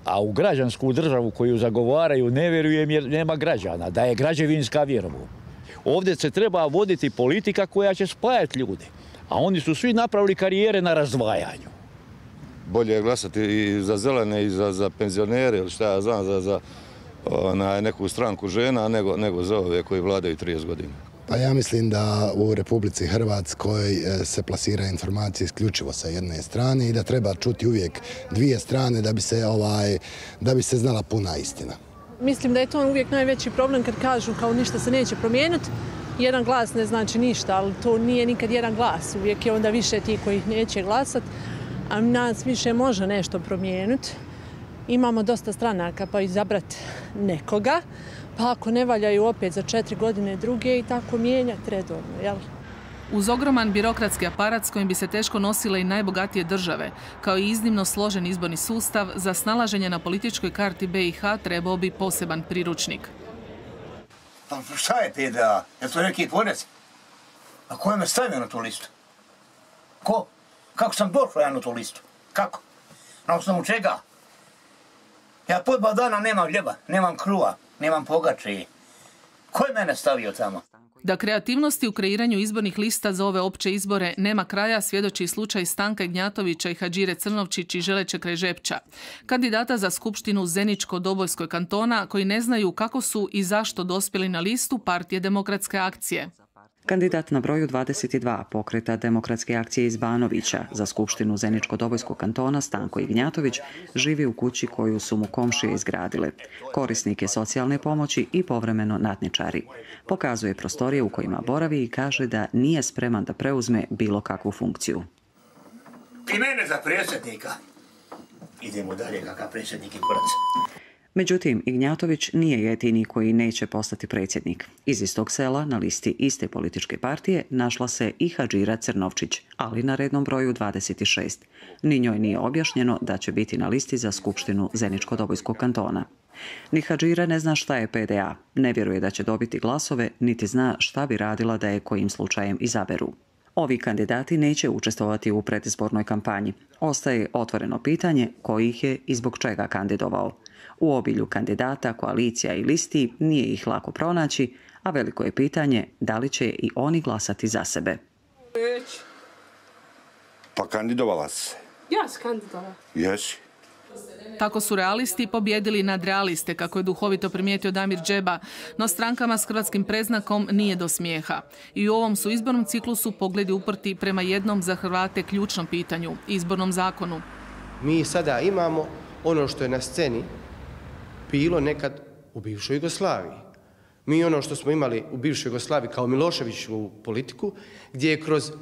A u građansku državu koju zagovaraju ne vjerujem jer nema građana, da je građevinska vjerovu. Ovdje se treba voditi politika koja će spajati ljude, a oni su svi napravili karijere na razdvajanju. Bolje je glasati i za zelene i za, za penzionere ili šta ja znam, za, za na neku stranku žena nego, nego za ove koji vladaju trideset godina. Pa ja mislim da u Republici Hrvatskoj se plasira informacije isključivo sa jedne strane i da treba čuti uvijek dvije strane da bi se, ovaj, da bi se znala puna istina. Mislim da je to uvijek najveći problem kad kažu kao ništa se neće promijeniti. Jedan glas ne znači ništa, ali to nije nikad jedan glas. Uvijek je onda više ti koji neće glasati. a nas više može nešto promijeniti. Imamo dosta stranaka pa izabrati nekoga, pa ako ne valjaju opet za četiri godine druge i tako mijenjati redovno, jel? Uz ogroman birokratski aparat s kojim bi se teško nosile i najbogatije države, kao i iznimno složen izborni sustav, za snalaženje na političkoj karti B i H trebao bi poseban priručnik. Pa šta je P D A? Je to neki porez? A ko je me stavio na tu listu? Ko? Kako sam došao ja na tu listu? Kako? Na osnovu čega? Ja po dva dana nemam hljeba, nemam kruva, nemam pogače. Ko je mene stavio tamo? Da kreativnosti u kreiranju izbornih lista za ove opće izbore nema kraja, svjedoči slučaj Stanka Ignjatovića i Hadžire Crnovčić i Želeče kraj Žepča, kandidata za skupštinu Zeničko-Dobojskoj kantona, koji ne znaju kako su i zašto dospjeli na listu Partije demokratske akcije. Kandidat na broju dvadeset dva pokreta Demokratske akcije iz Banovića za skupštinu Zeničko-Dobojskog kantona Stanko Ignjatović živi u kući koju su mu komšije izgradile. Korisnik je socijalne pomoći i povremeno nadničari. Pokazuje prostorije u kojima boravi i kaže da nije spreman da preuzme bilo kakvu funkciju. Ti mene za predsjednika. Idemo dalje kakav predsjednik i kurac. Međutim, Ignjatović nije jedini koji neće postati predsjednik. Iz istog sela, na listi iste političke partije, našla se i Hadžira Crnovčić, ali na rednom broju dvadeset šest. Ni njoj nije objašnjeno da će biti na listi za skupštinu Zeničko-Dobojskog kantona. Ni Hadžira ne zna šta je P D A, ne vjeruje da će dobiti glasove, niti zna šta bi radila da je kojim slučajem izaberu. Ovi kandidati neće učestvovati u predizbornoj kampanji. Ostaje otvoreno pitanje ko ih je i zbog čega kandidovao. U obilju kandidata, koalicija i listi nije ih lako pronaći, a veliko je pitanje da li će i oni glasati za sebe. Pa kandidovala se. Ja sam kandidovala. Jesi. Tako su realisti pobjedili nad realiste, kako je duhovito primijetio Damir Džeba, no strankama s hrvatskim predznakom nije do smijeha. I u ovom su izbornom ciklusu pogledi uprti prema jednom za Hrvate ključnom pitanju, izbornom zakonu. Mi sada imamo ono što je na sceni bilo nekad u bivšoj Jugoslaviji. Mi ono što smo imali u bivšoj Jugoslaviji kao Miloševićevu politiku, gdje je kroz uh,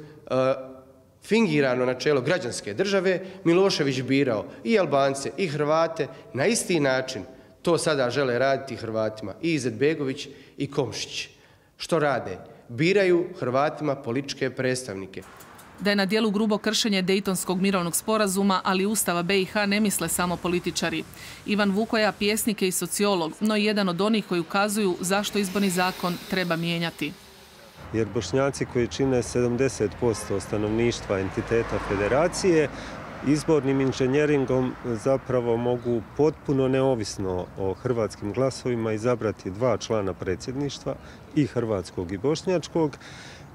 fingirano načelo građanske države Milošević birao i Albance i Hrvate na isti način. To sada žele raditi Hrvatima i Izetbegović i Komšić. Što rade? Biraju Hrvatima političke predstavnike. Da je na dijelu grubo kršenje Dejtonskog mirovnog sporazuma, ali Ustava B i H ne misle samo političari. Ivan Vukoja pjesnik je i sociolog, no i jedan od onih koji ukazuju zašto izborni zakon treba mijenjati. Jer Bošnjaci koji čine sedamdeset posto stanovništva entiteta federacije, izbornim inženjeringom zapravo mogu potpuno neovisno o hrvatskim glasovima izabrati dva člana predsjedništva, i hrvatskog i bošnjačkog,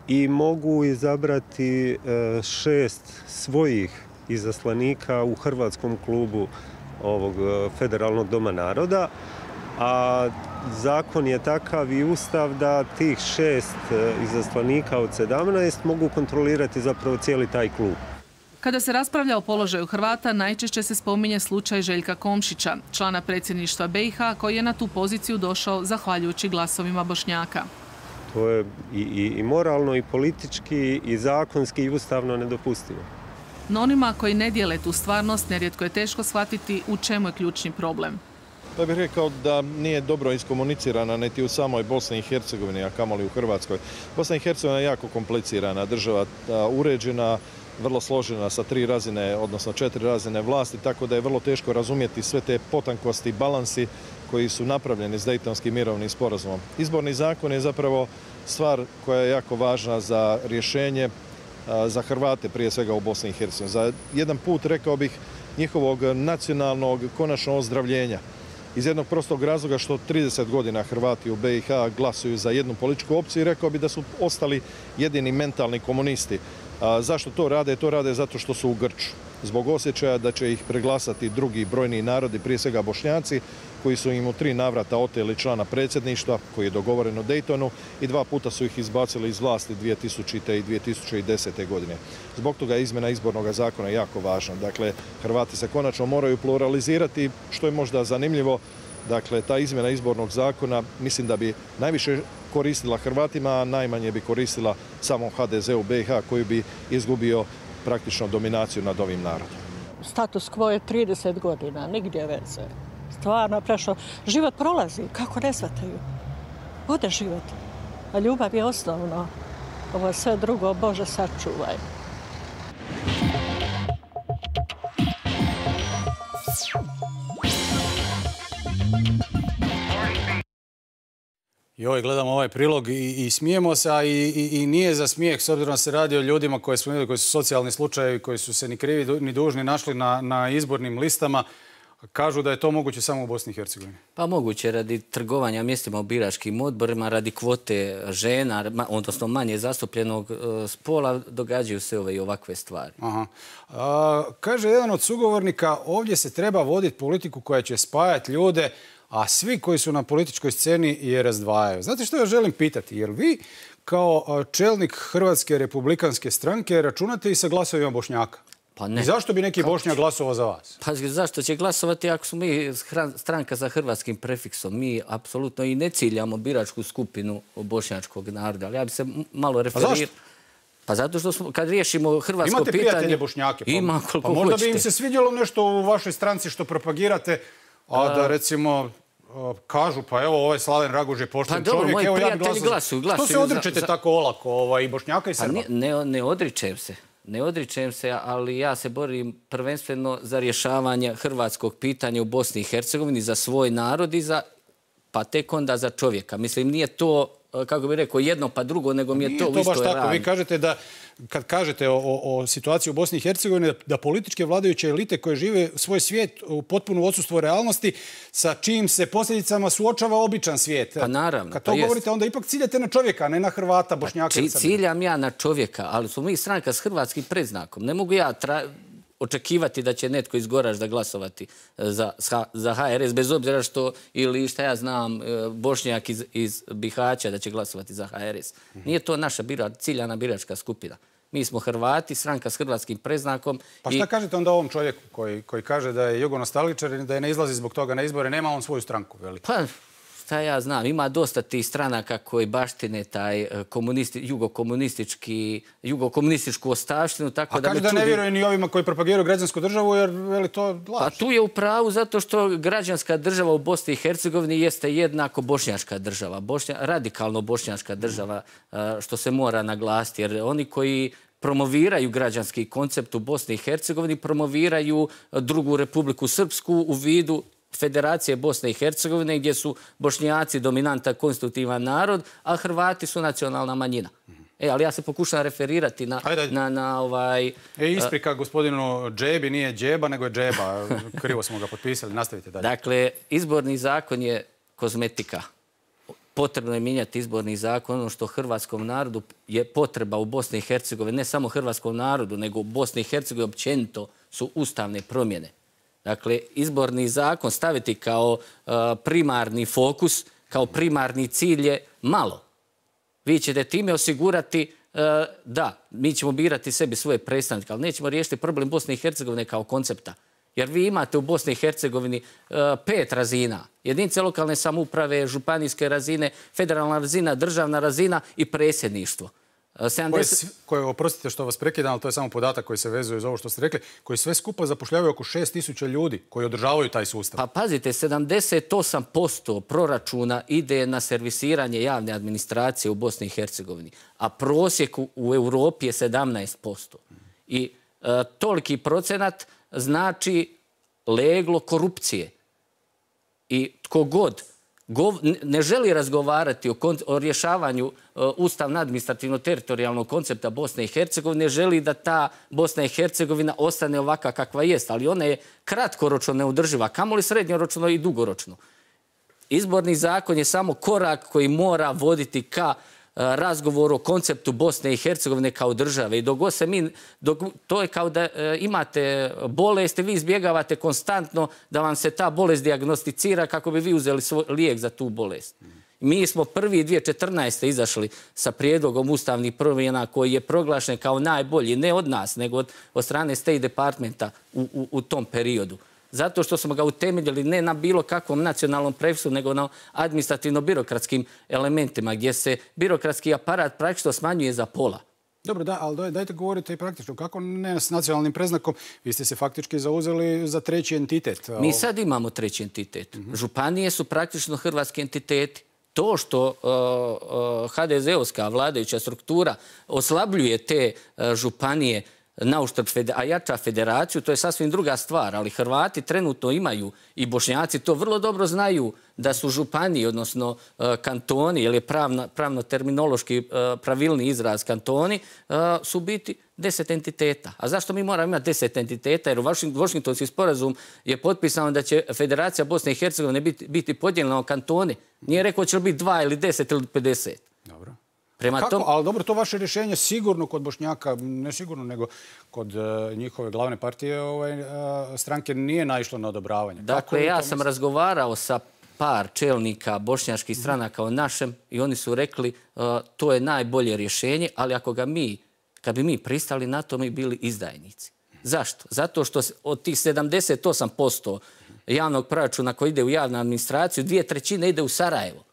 i mogu izabrati šest svojih izaslanika u hrvatskom klubu ovog Federalnog doma naroda, a zakon je takav i ustav da tih šest izaslanika od sedamnaest mogu kontrolirati zapravo cijeli taj klub. Kada se raspravlja o položaju Hrvata, najčešće se spominje slučaj Željka Komšića, člana predsjedništva B i H, koji je na tu poziciju došao zahvaljujući glasovima Bošnjaka. To je i, i, i moralno, i politički, i zakonski, i ustavno nedopustivo. No onima koji ne dijele tu stvarnost, nerijetko je teško shvatiti u čemu je ključni problem. Ja bih rekao da nije dobro iskomunicirana niti u samoj Bosni i Hercegovini, a kamoli u Hrvatskoj. Bosna i Hercegovina je jako komplicirana država, uređena, vrlo složena sa tri razine, odnosno četiri razine vlasti, tako da je vrlo teško razumjeti sve te potankosti i balansi koji su napravljeni s Dejtonskim mirovnim sporazumom. Izborni zakon je zapravo stvar koja je jako važna za rješenje za Hrvate, prije svega u Bosni i Hercegovini. Za jedan put, rekao bih, njihovog nacionalnog konačno ozdravljenja. Iz jednog prostog razloga što trideset godina Hrvati u B i H glasuju za jednu političku opciju i rekao bi da su ostali jedini mentalni komunisti. A zašto to rade? To rade zato što su u grču. Zbog osjećaja da će ih preglasati drugi brojni narodi, prije svega Bošnjaci, koji su im u tri navrata oteli člana predsjedništva, koji je dogovoren u Dejtonu, i dva puta su ih izbacili iz vlasti dvije tisućite. i dvije tisuće desete. godine. Zbog toga je izmjena izbornog zakona jako važna. Dakle, Hrvati se konačno moraju pluralizirati, što je možda zanimljivo. Dakle, ta izmjena izbornog zakona mislim da bi najviše koristila Hrvatima, a najmanje bi koristila samom H D Z-u B i H, koji bi izgubio praktično dominaciju nad ovim narodom. status quo je trideset godina, nigdje veze. Stvarno prešlo. Život prolazi, kako ne shvataju. Bude život. A ljubav je osnovno. Ovo sve drugo, Bože, sačuvaj. Joj, gledamo ovaj prilog i, i smijemo se, a i, i, i nije za smijeh, s obzirom da se radi o ljudima koje smo vidjeli, koji su socijalni slučajevi, koji su se ni krivi ni dužni našli na, na izbornim listama. Kažu da je to moguće samo u Bosni i Hercegovini. Pa moguće radi trgovanja mjestima u biračkim odborima, radi kvote žena, odnosno manje zastupljenog spola, događaju se ove i ovakve stvari. Aha. A, kaže jedan od sugovornika, ovdje se treba voditi politiku koja će spajati ljude, a svi koji su na političkoj sceni je razdvajaju. Znate što ja želim pitati? Jer vi kao čelnik Hrvatske republikanske stranke računate i sa glasovima Bošnjaka? Pa ne. I zašto bi neki Bošnjak glasovao za vas? Pa zašto će glasovati ako smo mi stranka sa hrvatskim prefiksom? Mi apsolutno i ne ciljamo biračku skupinu bošnjačkog naroda. Ali ja bi se malo referirao. A zašto? Pa zato što smo, kad riješimo hrvatsko pitanje... pitanje... Imate prijatelje Bošnjake? Pa, ima koliko pa možda hoćete. bi im se svidjelo nešto u vašoj stranci što propagirate, a da recimo... kažu, pa evo, ovaj Slaven Raguž je pošten pa dobro, čovjek, moji evo ja bi prijatelji glasuju. Što se odričete za, za... tako olako, ovaj, i Bošnjaka i Srba? Pa ne, ne odričem se. Ne odričem se, ali ja se borim prvenstveno za rješavanje hrvatskog pitanja u Bosni i Hercegovini, za svoj narod i za, pa tek onda za čovjeka. Mislim, nije to, kako bih rekao, jedno pa drugo, nego mi je to u istoj rani. Nije to baš tako. Vi kažete da, kad kažete o, o, o situaciji u Bosni i Hercegovini, da, da političke vladajuće elite koje žive svoj svijet u potpuno odsustvo realnosti, sa čijim se posljedicama suočava običan svijet. Pa naravno. Kad to pa govorite, onda ipak ciljate na čovjeka, a ne na Hrvata, Bošnjaka pa, i Srba. Ciljam ja na čovjeka, ali smo mi stranka s hrvatskim predznakom. Ne mogu ja tra... očekivati da će netko iz Goražda glasovati za, za H R S, bez obzira što, ili šta ja znam, Bošnjak iz, iz Bihaća da će glasovati za H R S. Nije to naša bira, ciljana biračka skupina. Mi smo Hrvati, stranka s hrvatskim predznakom. Pa šta i... kažete onda ovom čovjeku koji, koji kaže da je jugonostalgičar i da je ne izlazi zbog toga na izbore, nema on svoju stranku, veli? Pa, šta ja znam, ima dosta tih stranaka koji baštine taj komunisti, jugokomunistički, jugokomunističku ostavštinu, tako a da... A kaže da čudi... ne vjeruje ni ovima koji propagiraju građansku državu, jer veli to laž. Pa tu je u pravu zato što građanska država u Bosni i Hercegovini jeste jednako bošnjačka država, Bošnja, radikalno bošnjačka država, što se mora naglasiti, jer oni koji promoviraju građanski koncept u Bosni i Hercegovini, promoviraju drugu Republiku Srpsku u vidu Federacije Bosne i Hercegovine, gdje su Bošnjaci dominantan konstitutivan narod, a Hrvati su nacionalna manjina. E, ali ja se pokušam referirati na, na, na ovaj... E, isprika gospodinu Džebi, nije Džeba, nego je Džeba. Krivo smo ga potpisali. Nastavite dalje. Dakle, izborni zakon je kozmetika. Potrebno je mijenjati izborni zakon. Ono što hrvatskom narodu je potreba u Bosni i Hercegovini, ne samo hrvatskom narodu, nego u Bosni i Hercegovini općenito su ustavne promjene. Dakle, izborni zakon staviti kao uh, primarni fokus, kao primarni cilj je malo. Vi ćete time osigurati uh, da, mi ćemo birati sebi svoje predstavnike, ali nećemo riješiti problem Bosne i Hercegovine kao koncepta. Jer vi imate u Bosni i Hercegovini uh, pet razina. Jedinice lokalne samouprave, županijske razine, federalna razina, državna razina i predsjedništvo. sedamdeset... Koje, oprostite što vas prekidam, ali to je samo podatak koji se vezuje za ovo što ste rekli, koji sve skupa zapošljavaju oko šest tisuća ljudi koji održavaju taj sustav. Pa pazite, sedamdeset osam posto proračuna ide na servisiranje javne administracije u Bosni i Hercegovini, a prosjek u Europi je sedamnaest posto. I e, toliki procenat znači leglo korupcije. I tko god ne želi razgovarati o, o rješavanju uh, ustavno-administrativno-teritorijalnog koncepta Bosne i Hercegovine, želi da ta Bosna i Hercegovina ostane ovakva kakva jest, ali ona je kratkoročno neudrživa, kamoli srednjoročno i dugoročno. Izborni zakon je samo korak koji mora voditi ka razgovor o konceptu Bosne i Hercegovine kao države. I dok se mi, dok, to je kao da e, imate bolest i vi izbjegavate konstantno da vam se ta bolest dijagnosticira kako bi vi uzeli svoj lijek za tu bolest. Mi smo prvi dvije tisuće četrnaeste. izašli sa prijedlogom ustavnih promjena koji je proglašen kao najbolji, ne od nas, nego od, od strane State Departmenta u, u, u tom periodu. Zato što smo ga utemeljili ne na bilo kakvom nacionalnom prefisu, nego na administrativno-birokratskim elementima, gdje se birokratski aparat praktično smanjuje za pola. Dobro, da, ali dajte govorite i praktično. Kako ne s nacionalnim preznakom? Vi ste se faktički zauzeli za treći entitet. Mi sad imamo treći entitet. Županije su praktično hrvatski entiteti. To što ha de zeovska vladajuća struktura oslabljuje te županije na uštrb, a jača federaciju, to je sasvim druga stvar. Ali Hrvati trenutno imaju, i Bošnjaci to vrlo dobro znaju, da su županije, odnosno kantoni, jer je pravno terminološki pravilni izraz kantoni, su biti deset entiteta. A zašto mi moramo imati deset entiteta? Jer u Washingtonski sporazum je potpisano da će Federacija Bosne i Hercegovine biti podijeljena u kantone. Nije rekao će li biti dva ili deset ili pedeset. Dobro. Kako? Tom... Ali dobro, to vaše rješenje sigurno kod Bošnjaka, ne sigurno, nego kod uh, njihove glavne partije ovaj, uh, stranke nije naišlo na odobravanje. Dakle, ja sam razgovarao sa par čelnika bošnjačkih stranaka o našem i oni su rekli uh, to je najbolje rješenje, ali ako ga mi, kad bi mi pristali na to, mi bili izdajnici. Zašto? Zato što od tih sedamdeset osam posto javnog proračuna koji ide u javnu administraciju, dvije trećine ide u Sarajevo.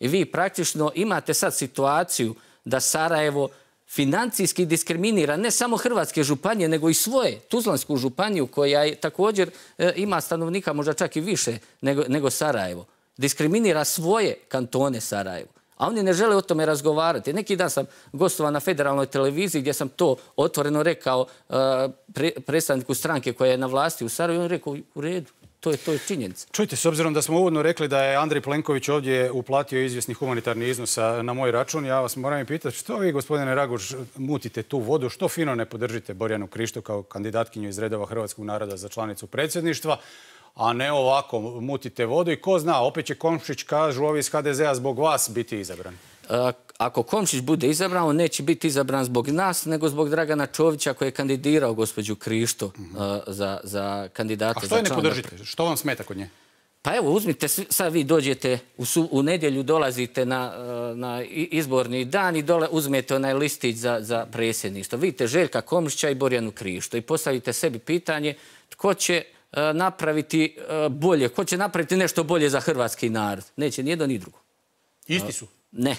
I vi praktično imate sad situaciju da Sarajevo financijski diskriminira ne samo hrvatske županije, nego i svoje, Tuzlansku županiju koja je, također e, ima stanovnika možda čak i više nego, nego Sarajevo. Diskriminira svoje kantone Sarajevo. A oni ne žele o tome razgovarati. Neki dan sam gostovao na federalnoj televiziji gdje sam to otvoreno rekao uh, pre, predstavniku stranke koja je na vlasti u Sarajevu i on rekao u redu. To je, to je činjenica. Čujte, s obzirom da smo uvodno rekli da je Andrej Plenković ovdje uplatio izvjesni humanitarni iznos na moj račun, ja vas moram i pitati što vi, gospodine Raguž, mutite tu vodu, što fino ne podržite Borjanu Krišto kao kandidatkinju iz redova hrvatskog naroda za članicu predsjedništva, a ne ovako mutite vodu i ko zna, opet će Komšić, kažu ovi iz ha de zea, zbog vas biti izabran. Ako Komšić bude izabran, on neće biti izabran zbog nas, nego zbog Dragana Čovića koji je kandidirao gospođu Krišto mm -hmm. za, za kandidata. A što je ne podržite? Što vam smeta kod nje? Pa evo, uzmite, sad vi dođete, u, su, u nedjelju dolazite na, na izborni dan i dole, uzmete onaj listić za, za predsjedništvo. Vidite Željka Komšića i Borjanu Krišto i postavite sebi pitanje tko će napraviti bolje, ko će napraviti nešto bolje za hrvatski narod. Neće ni jedno ni drugo. Isti su? Ne.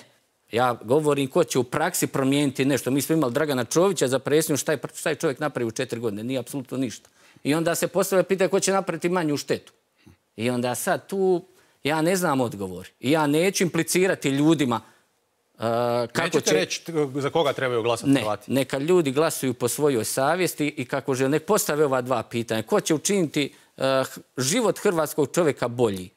Ja govorim ko će u praksi promijeniti nešto. Mi smo imali Dragana Čovića za predsjednju, šta je, šta je čovjek napravio u četiri godine? Nije apsolutno ništa. I onda se postavlja pitanje ko će napraviti manju štetu. I onda sad tu ja ne znam odgovor. I ja neću implicirati ljudima uh, kako Nećete će... reći za koga trebaju glasati Hrvati? Ne, neka ljudi glasuju po svojoj savjesti i kako žele, nek postave ova dva pitanja. Ko će učiniti uh, život hrvatskog čovjeka bolji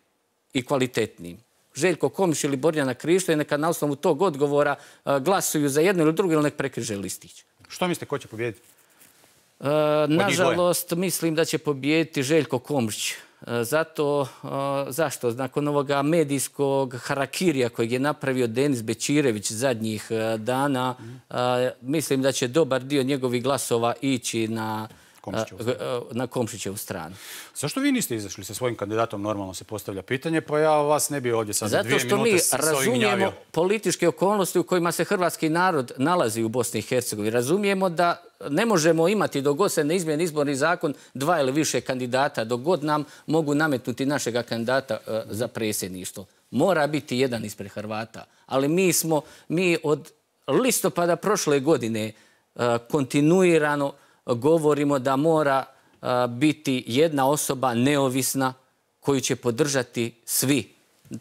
i kvalitetnijim? Željko Komšić ili Borjana Krišto i neka na osnovu tog odgovora uh, glasuju za jedno ili drugo ili nek prekriže listić. Što mislite, ko će pobijediti? Uh, nažalost, mislim da će pobijediti Željko Komšić. Uh, zato, uh, zašto? Nakon ovoga medijskog harakirija kojeg je napravio Denis Bećirević zadnjih uh, dana, uh, mislim da će dobar dio njegovih glasova ići na... na Komšićevu stranu. Zašto vi niste izašli sa svojim kandidatom? Normalno se postavlja pitanje, pa ja vas ne bi ovdje sad dvije minute s ovim gnjavio. Zato što mi razumijemo političke okolnosti u kojima se hrvatski narod nalazi u Bosni i Hercegovini. Razumijemo da ne možemo imati dok god se ne izmijeni izborni zakon dva ili više kandidata, dok god nam mogu nametnuti našega kandidata uh, za predsjedništvo. Mora biti jedan ispred Hrvata. Ali mi smo, mi od listopada prošle godine uh, kontinuirano govorimo da mora uh, biti jedna osoba neovisna koju će podržati svi.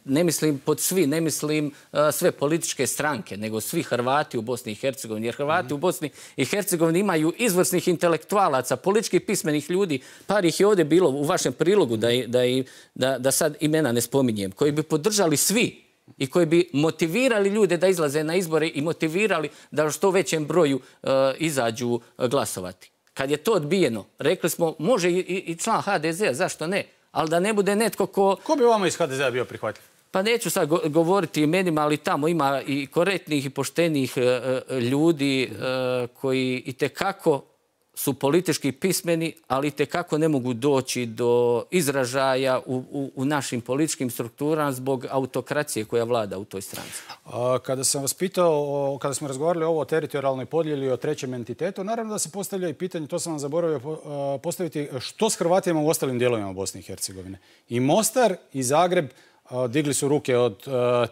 Ne mislim pod svi, ne mislim uh, sve političke stranke, nego svi Hrvati u Bosni i Hercegovini. Jer Hrvati mm-hmm. u Bosni i Hercegovini imaju izvrsnih intelektualaca, politički pismenih ljudi, par ih je ovdje bilo u vašem prilogu, da, da, da, da sad imena ne spominjem, koji bi podržali svi i koji bi motivirali ljude da izlaze na izbore i motivirali da u što većem broju uh, izađu uh, glasovati. Kad je to odbijeno, rekli smo, može i, i član ha de zea, zašto ne? Ali da ne bude netko ko... Ko bi vama iz ha de zea bio prihvatljiv? Pa neću sad go govoriti imenima, ali tamo ima i korektnih i poštenih uh, ljudi uh, koji itekako su politički pismeni, ali itekako ne mogu doći do izražaja u, u, u našim političkim strukturama zbog autokracije koja vlada u toj stranci. A, kada sam vas pitao, kada smo razgovarali ovo o teritorijalnoj podjeli i o trećem entitetu, naravno da se postavlja i pitanje, to sam vam zaboravio postaviti, što s Hrvatima u ostalim dijelovima Bosne i Hercegovine. I Mostar i Zagreb digli su ruke od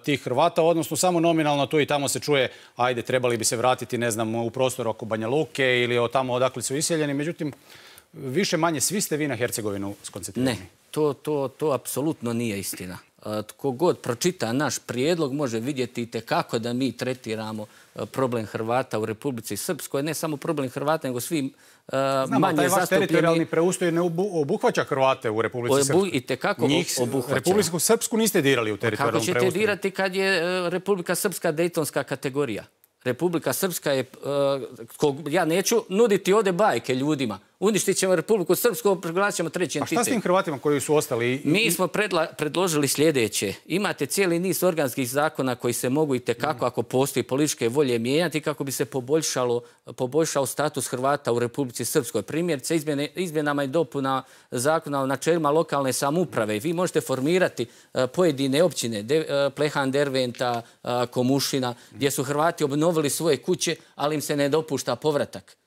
tih Hrvata, odnosno samo nominalno tu i tamo se čuje ajde, trebali bi se vratiti, ne znam, u prostor oko Banja Luke ili od tamo odakle su iseljeni. Međutim, više manje svi ste vi na Hercegovinu skoncentrirani. Ne, to, to, to apsolutno nije istina. Tko god pročita naš prijedlog može vidjeti kako da mi tretiramo problem Hrvata u Republici Srpskoj. Ne samo problem Hrvata, nego svi Znamo, manje taj vaš zastupljeni... teritorijalni preustroj ne obuhvaća Hrvate u Republici Srpskoj. I tekako obuhvaća. Republiku Srpsku niste dirali u teritorijalnom preustroju. Kako ćete dirati kad je Republika Srpska dejtonska kategorija? Republika Srpska je... Ja neću nuditi ovdje bajke ljudima. Uništit ćemo Republiku Srpsku, proglasit ćemo treći entitet. A šta s tim Hrvatima koji su ostali? Mi smo predložili sljedeće. Imate cijeli niz organskih zakona koji se mogu i tekako, ako postoji političke volje, mijenjati kako bi se poboljšao status Hrvata u Republici Srpskoj. Primjerice, izmjenama i dopuna zakona o načelima lokalne samouprave. Vi možete formirati pojedine općine, Plehan, Derventa, Komušina, gdje su Hrvati obnovili svoje kuće, ali im se ne dopušta povratak.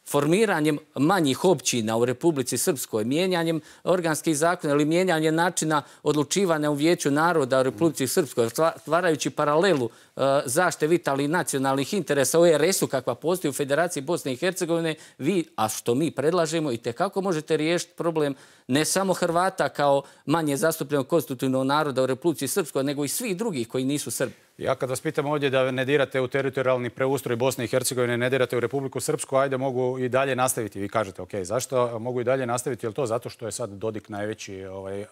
Formiranjem manjih općina u Republici Srpskoj, mijenjanjem organskih zakona ili mijenjanjem načina odlučivanja u Vijeću naroda u Republici Srpskoj, stvarajući paralelu zaštite vitalnih nacionalnih interesa u er es u kakva postoji u Federaciji Bosne i Hercegovine, vi, a što mi predlažemo, i tekako možete riješiti problem ne samo Hrvata kao manje zastupljenog konstitutivnog naroda u Republici Srpskoj, nego i svih drugih koji nisu Srbi. Ja kad vas pitam ovdje da ne dirate u teritorijalni preustroj Bosne i Hercegovine, ne dirate u Republiku Srpsku, ajde mogu i dalje nastaviti. Vi kažete, ok, zašto mogu i dalje nastaviti? Je li to zato što je sad Dodik najveći ovaj,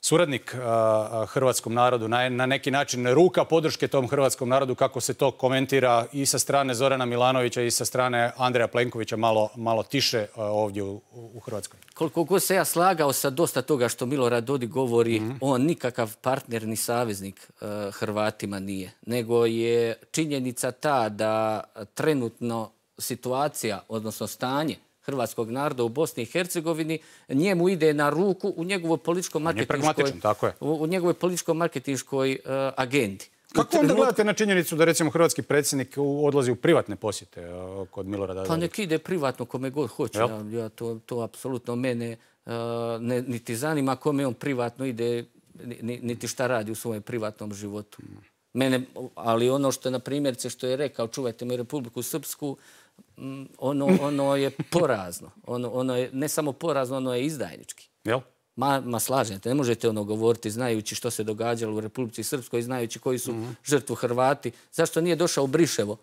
suradnik hrvatskom narodu, na neki način ruka podrške tom hrvatskom narodu, kako se to komentira i sa strane Zorana Milanovića i sa strane Andreja Plenkovića malo, malo tiše ovdje u, u Hrvatskoj? Koliko god se ja slagao sa dosta toga što Milorad Dodik govori, mm-hmm. on nikakav partner ni saveznik uh, Hrvatima nije. Nego je činjenica ta da trenutno situacija, odnosno stanje hrvatskog naroda u Bosni i Hercegovini njemu ide na ruku u njegovoj političko-marketinškoj u, u njegovoj političko-marketinškoj uh, agendi. Kako onda gledate na činjenicu da recimo hrvatski predsjednik odlazi u privatne posjete kod Milorada? Pa nek ide privatno kome god hoće. Ja, ja, to, to apsolutno mene uh, ne, niti zanima kome on privatno ide, niti šta radi u svojem privatnom životu. Mene, ali ono što je, na primjerice, što je rekao, čuvajte mi Republiku Srpsku, ono, ono je porazno. Ono, ono je ne samo porazno, ono je izdajnički. Jel? Ma, ma slažete, ne možete ono govoriti znajući što se događalo u Republici Srpskoj, znajući koji su mm-hmm. žrtvu Hrvati. Zašto nije došao u Briševo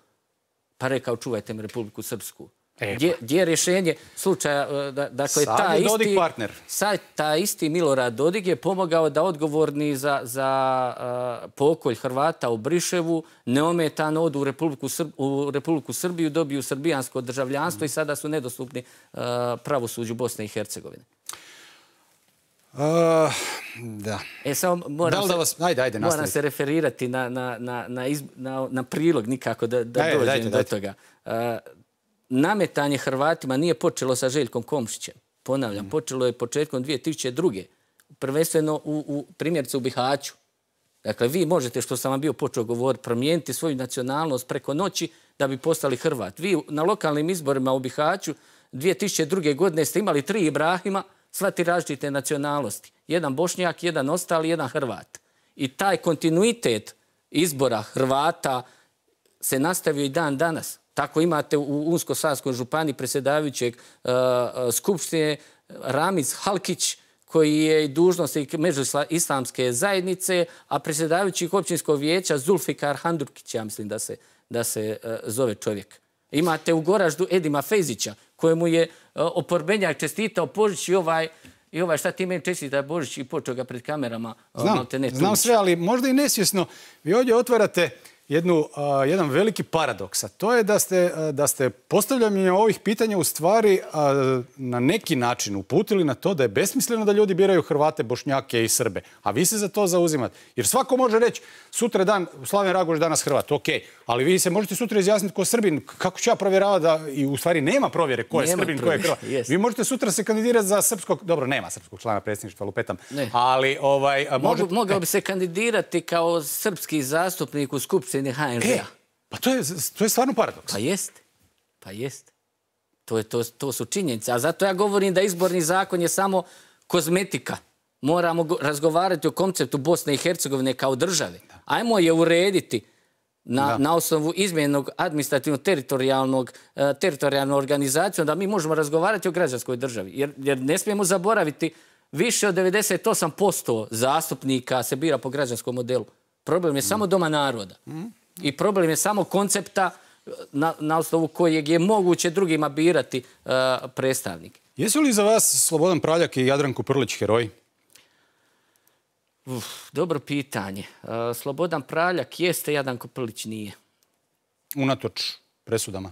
pa rekao čuvajte mi Republiku Srpsku? E, gdje, gdje je rješenje slučaja? Da, dakle, sad ta je Dodik isti, partner. Sad ta isti Milorad Dodik je pomogao da odgovorni za, za uh, pokolj Hrvata u Briševu neometano odu u Republiku, Srb, u Republiku Srbiju, dobiju srbijansko državljanstvo mm. i sada su nedostupni uh, pravosuđu Bosne i Hercegovine. Uh, da. E, samo moram, da da vas... ajde, ajde, moram se referirati na, na, na, na, izb... na, na prilog nikako da, da ajde, dođem dajte, do dajte. toga. Uh, nametanje Hrvatima nije počelo sa Željkom Komšićem. Ponavljam, mm. počelo je početkom dvije tisuće druge. Prvenstveno u, u primjerice u Bihaću. Dakle, vi možete, što sam vam bio počeo govoriti, promijeniti svoju nacionalnost preko noći da bi postali Hrvat. Vi na lokalnim izborima u Bihaću dvije tisuće druge godine ste imali tri Ibrahima, sva ti različite nacionalnosti. Jedan Bošnjak, jedan ostali, jedan Hrvat. I taj kontinuitet izbora Hrvata se nastavio i dan danas. Tako imate u Unsko-Sanskoj županiji predsjedavajućeg uh, skupštine Ramiz Halkić, koji je i dužnosnik Međuislamske zajednice, a predsjedavajući općinskog vijeća Zulfikar Handurkić, ja mislim da se, da se uh, zove čovjek. Imate u Goraždu Edima Fejzića, kojemu je uh, oporbenjak čestitao Božić i ovaj, i ovaj šta ti meni čestita Božić i počeo ga pred kamerama. Uh, znam, znam sve, ali možda i nesvjesno. Vi ovdje otvarate jednu, uh, jedan veliki paradoks, a to je da ste, uh, da ste postavljanje ovih pitanja u stvari uh, na neki način uputili na to da je besmisleno da ljudi biraju Hrvate, Bošnjake i Srbe. A vi se za to zauzimate. Jer svako može reći sutra dan Slaven Raguš, danas Hrvat, ok, ali vi se možete sutra izjasniti ko Srbin. Kako ću ja provjeravati da i u stvari nema provjere ko je nema Srbin, ko je Hrvat. Yes. Vi možete sutra se kandidirati za srpskog, dobro, nema srpskog člana predsjedništva, lupetam, ne. ali ovaj... Možete... Mogao bi se kandidirati kao srpski zastupnik u skupštini ha en ža. E, pa to je, to je stvarno paradoks. Pa jeste. Pa jeste. To, je, to, to su činjenice. A zato ja govorim da izborni zakon je samo kozmetika. Moramo razgovarati o konceptu Bosne i Hercegovine kao države. Ajmo je urediti na, na osnovu izmijenjenog administrativnog teritorijalnog, teritorijalnu organizaciju, da mi možemo razgovarati o građanskoj državi. Jer, jer ne smijemo zaboraviti, više od devedeset osam posto zastupnika se bira po građanskom modelu. Problem je mm. samo Doma naroda. Mm. I problem je samo koncepta na, na osnovu kojeg je moguće drugima birati uh, predstavnike. Jesu li za vas Slobodan Praljak i Jadranko Prlić heroji? Uf, dobro pitanje. Uh, Slobodan Praljak jeste, Jadranko Prlić nije. Unatoč presudama?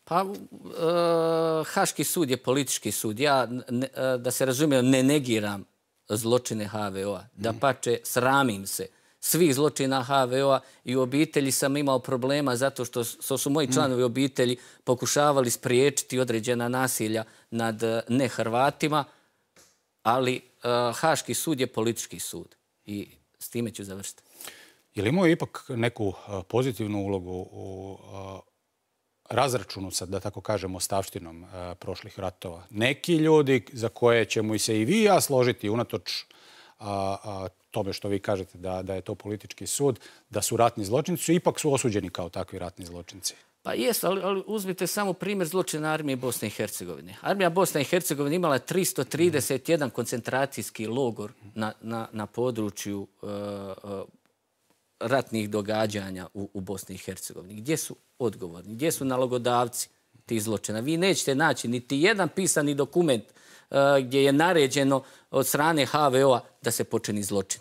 Pa, uh, Haški sud je politički sud. Ja, ne, uh, da se razumijem, ne negiram zločine ha ve o-a. Da pače, sramim se svih zločina ha ve o-a i u obitelji sam imao problema zato što, što su moji članovi obitelji pokušavali spriječiti određena nasilja nad ne Hrvatima, ali uh, Haški sud je politički sud i s time ću završiti. Je li imao ipak neku uh, pozitivnu ulogu u uh, razračunu sa, da tako kažemo, ostavštinom uh, prošlih ratova? Neki ljudi za koje ćemo i se i vi i ja složiti unatoč uh, uh, tome što vi kažete da, da je to politički sud, da su ratni zločinci, ipak su osuđeni kao takvi ratni zločinci. Pa jest, ali, ali uzmite samo primjer zločina armije Bosne i Hercegovine. Armija Bosne i Hercegovine imala tristo trideset jedan koncentracijski logor na, na, na području uh, uh, ratnih događanja u, u Bosni i Hercegovini. Gdje su odgovorni? Gdje su nalogodavci tih zločina? Vi nećete naći niti jedan pisani dokument uh, gdje je naređeno od strane ha ve o-a da se počini zločin.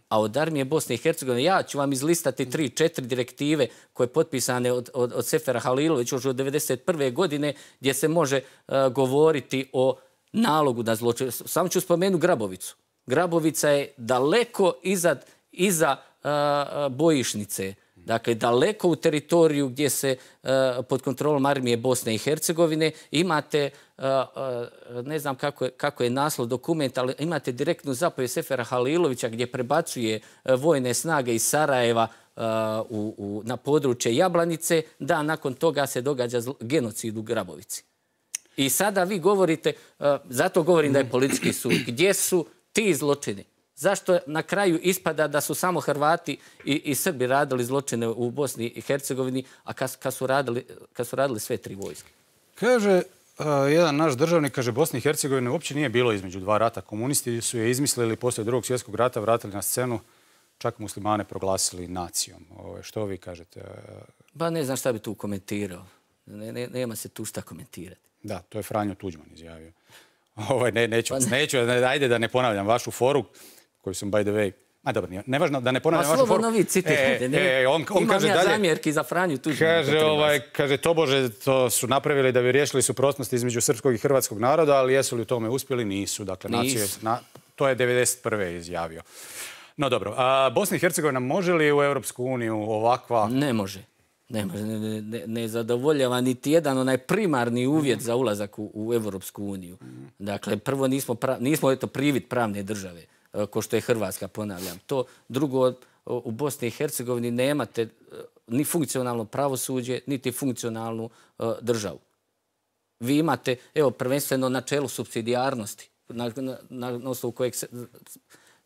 A od armije Bosne i Hercegovine, ja ću vam izlistati tri, četiri direktive koje je potpisane od, od, od Sefera Halilovića još od devedeset prve godine gdje se može uh, govoriti o nalogu na zločin. Samo ću spomenuti Grabovicu. Grabovica je daleko iza, iza uh, bojišnice. Dakle, daleko u teritoriju gdje se uh, pod kontrolom armije Bosne i Hercegovine imate, uh, uh, ne znam kako je, kako je naslov dokumenta, ali imate direktnu zapovijed Sefera Halilovića gdje prebacuje uh, vojne snage iz Sarajeva uh, u, u, na područje Jablanice, da nakon toga se događa genocid u Grabovici. I sada vi govorite, uh, zato govorim da je politički sud, gdje su ti zločini? Zašto na kraju ispada da su samo Hrvati i, i Srbi radili zločine u Bosni i Hercegovini, a kad, kad, su, radili, kad su radili sve tri vojske? Kaže uh, jedan naš državnik, kaže Bosni i Hercegovine uopće nije bilo između dva rata. Komunisti su je izmislili poslije drugog svjetskog rata, vratili na scenu, čak muslimane proglasili nacijom. Ove, što vi kažete? Ba ne znam šta bi tu komentirao. Ne, ne, nema se tu šta komentirati. Da, to je Franjo Tuđman izjavio. Ovaj, ne, neću, pa ne. neću, ajde da ne ponavljam vašu foru, koju sam, by the way, ma dobro, nevažno da ne ponavljam vašu foru. Pa slobodno vi citirate. E, e, on, on Imam kaže ja dalje, zamjerki za Franju Tuđmana. Kaže, ovaj, kaže, tobože to su napravili da bi riješili suprotnosti između srpskog i hrvatskog naroda, ali jesu li u tome uspjeli? Nisu. Dakle, Nisu. Nacije, na, to je devedeset prve izjavio. No dobro, a Bosna i Hercegovina može li u Europsku uniju ovakva... Ne može. Ne, ne, ne, ne zadovoljava niti jedan onaj primarni uvjet za ulazak u, u Europsku uniju. Dakle, prvo nismo, pra, nismo eto, privid pravne države, ko što je Hrvatska, ponavljam. To drugo, u Bosni i Hercegovini nemate ni funkcionalno pravosuđe, niti funkcionalnu uh, državu. Vi imate, evo, prvenstveno načelo supsidijarnosti, na, na, na osnovu kojeg se...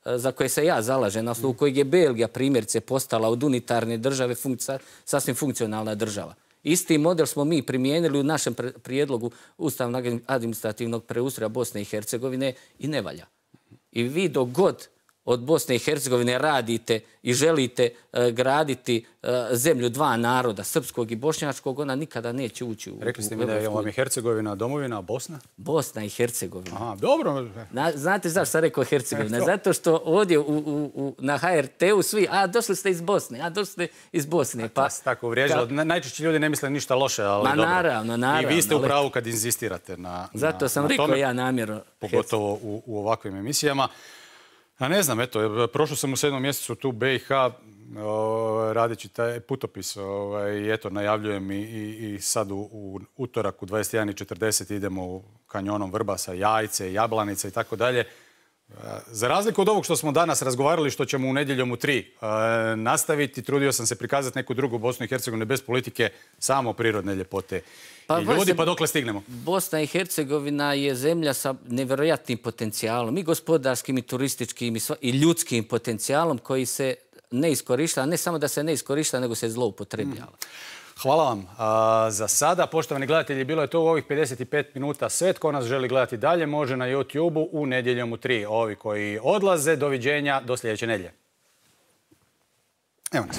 za koje se ja zalažem, na osnovu kojeg je Belgija primjerice postala od unitarne države funkcija, sasvim funkcionalna država. Isti model smo mi primijenili u našem prijedlogu ustavnog administrativnog preustroja Bosne i Hercegovine i ne valja. I vi dok god od Bosne i Hercegovine radite i želite uh, graditi uh, zemlju dva naroda, srpskog i bošnjačkog, ona nikada neće ući u... Rekli ste mi da je vam je Hercegovina domovina, a Bosna? Bosna i Hercegovina. Aha, dobro. Na, znate zašto sam rekao Hercegovina? Zato što ovdje u, u, u, na ha er te-u svi, a došli ste iz Bosne, a došli ste iz Bosne. Pa, pa tako uvriježilo. Ka... Najčešće ljudi ne misle ništa loše, ali Ma, dobro. naravno, naravno. I vi ste u pravu kad inzistirate na, Zato na, sam na rekao tome, ja namjerno. Pogotovo u, u ovakvim emisijama. A ne znam, eto, prošao sam u sedmom mjesecu tu be i ha o, radeći taj putopis. Ovaj, eto, najavljujem i, i, i sad u, u utorak u dvadeset jedan i četrdeset idemo u kanjonom Vrbasa, Jajce, Jablanica i tako dalje. Za razliku od ovog što smo danas razgovarali, što ćemo u Nedjeljom u tri nastaviti, trudio sam se prikazati neku drugu Bosnu i Hercegovinu bez politike, samo prirodne ljepote i ljudi, pa dokle stignemo. Bosna i Hercegovina je zemlja sa nevjerojatnim potencijalom, i gospodarskim, i turističkim, i ljudskim potencijalom koji se ne iskorištava, ne samo da se ne iskorištava, nego se zloupotrebljava. Hvala vam za sada. Poštovani gledatelji, bilo je to u ovih pedeset pet minuta sve. Tko nas želi gledati dalje, može na YouTube-u u Nedjeljom u tri. Ovi koji odlaze, doviđenja, do sljedeće nedjelje. Evo nas.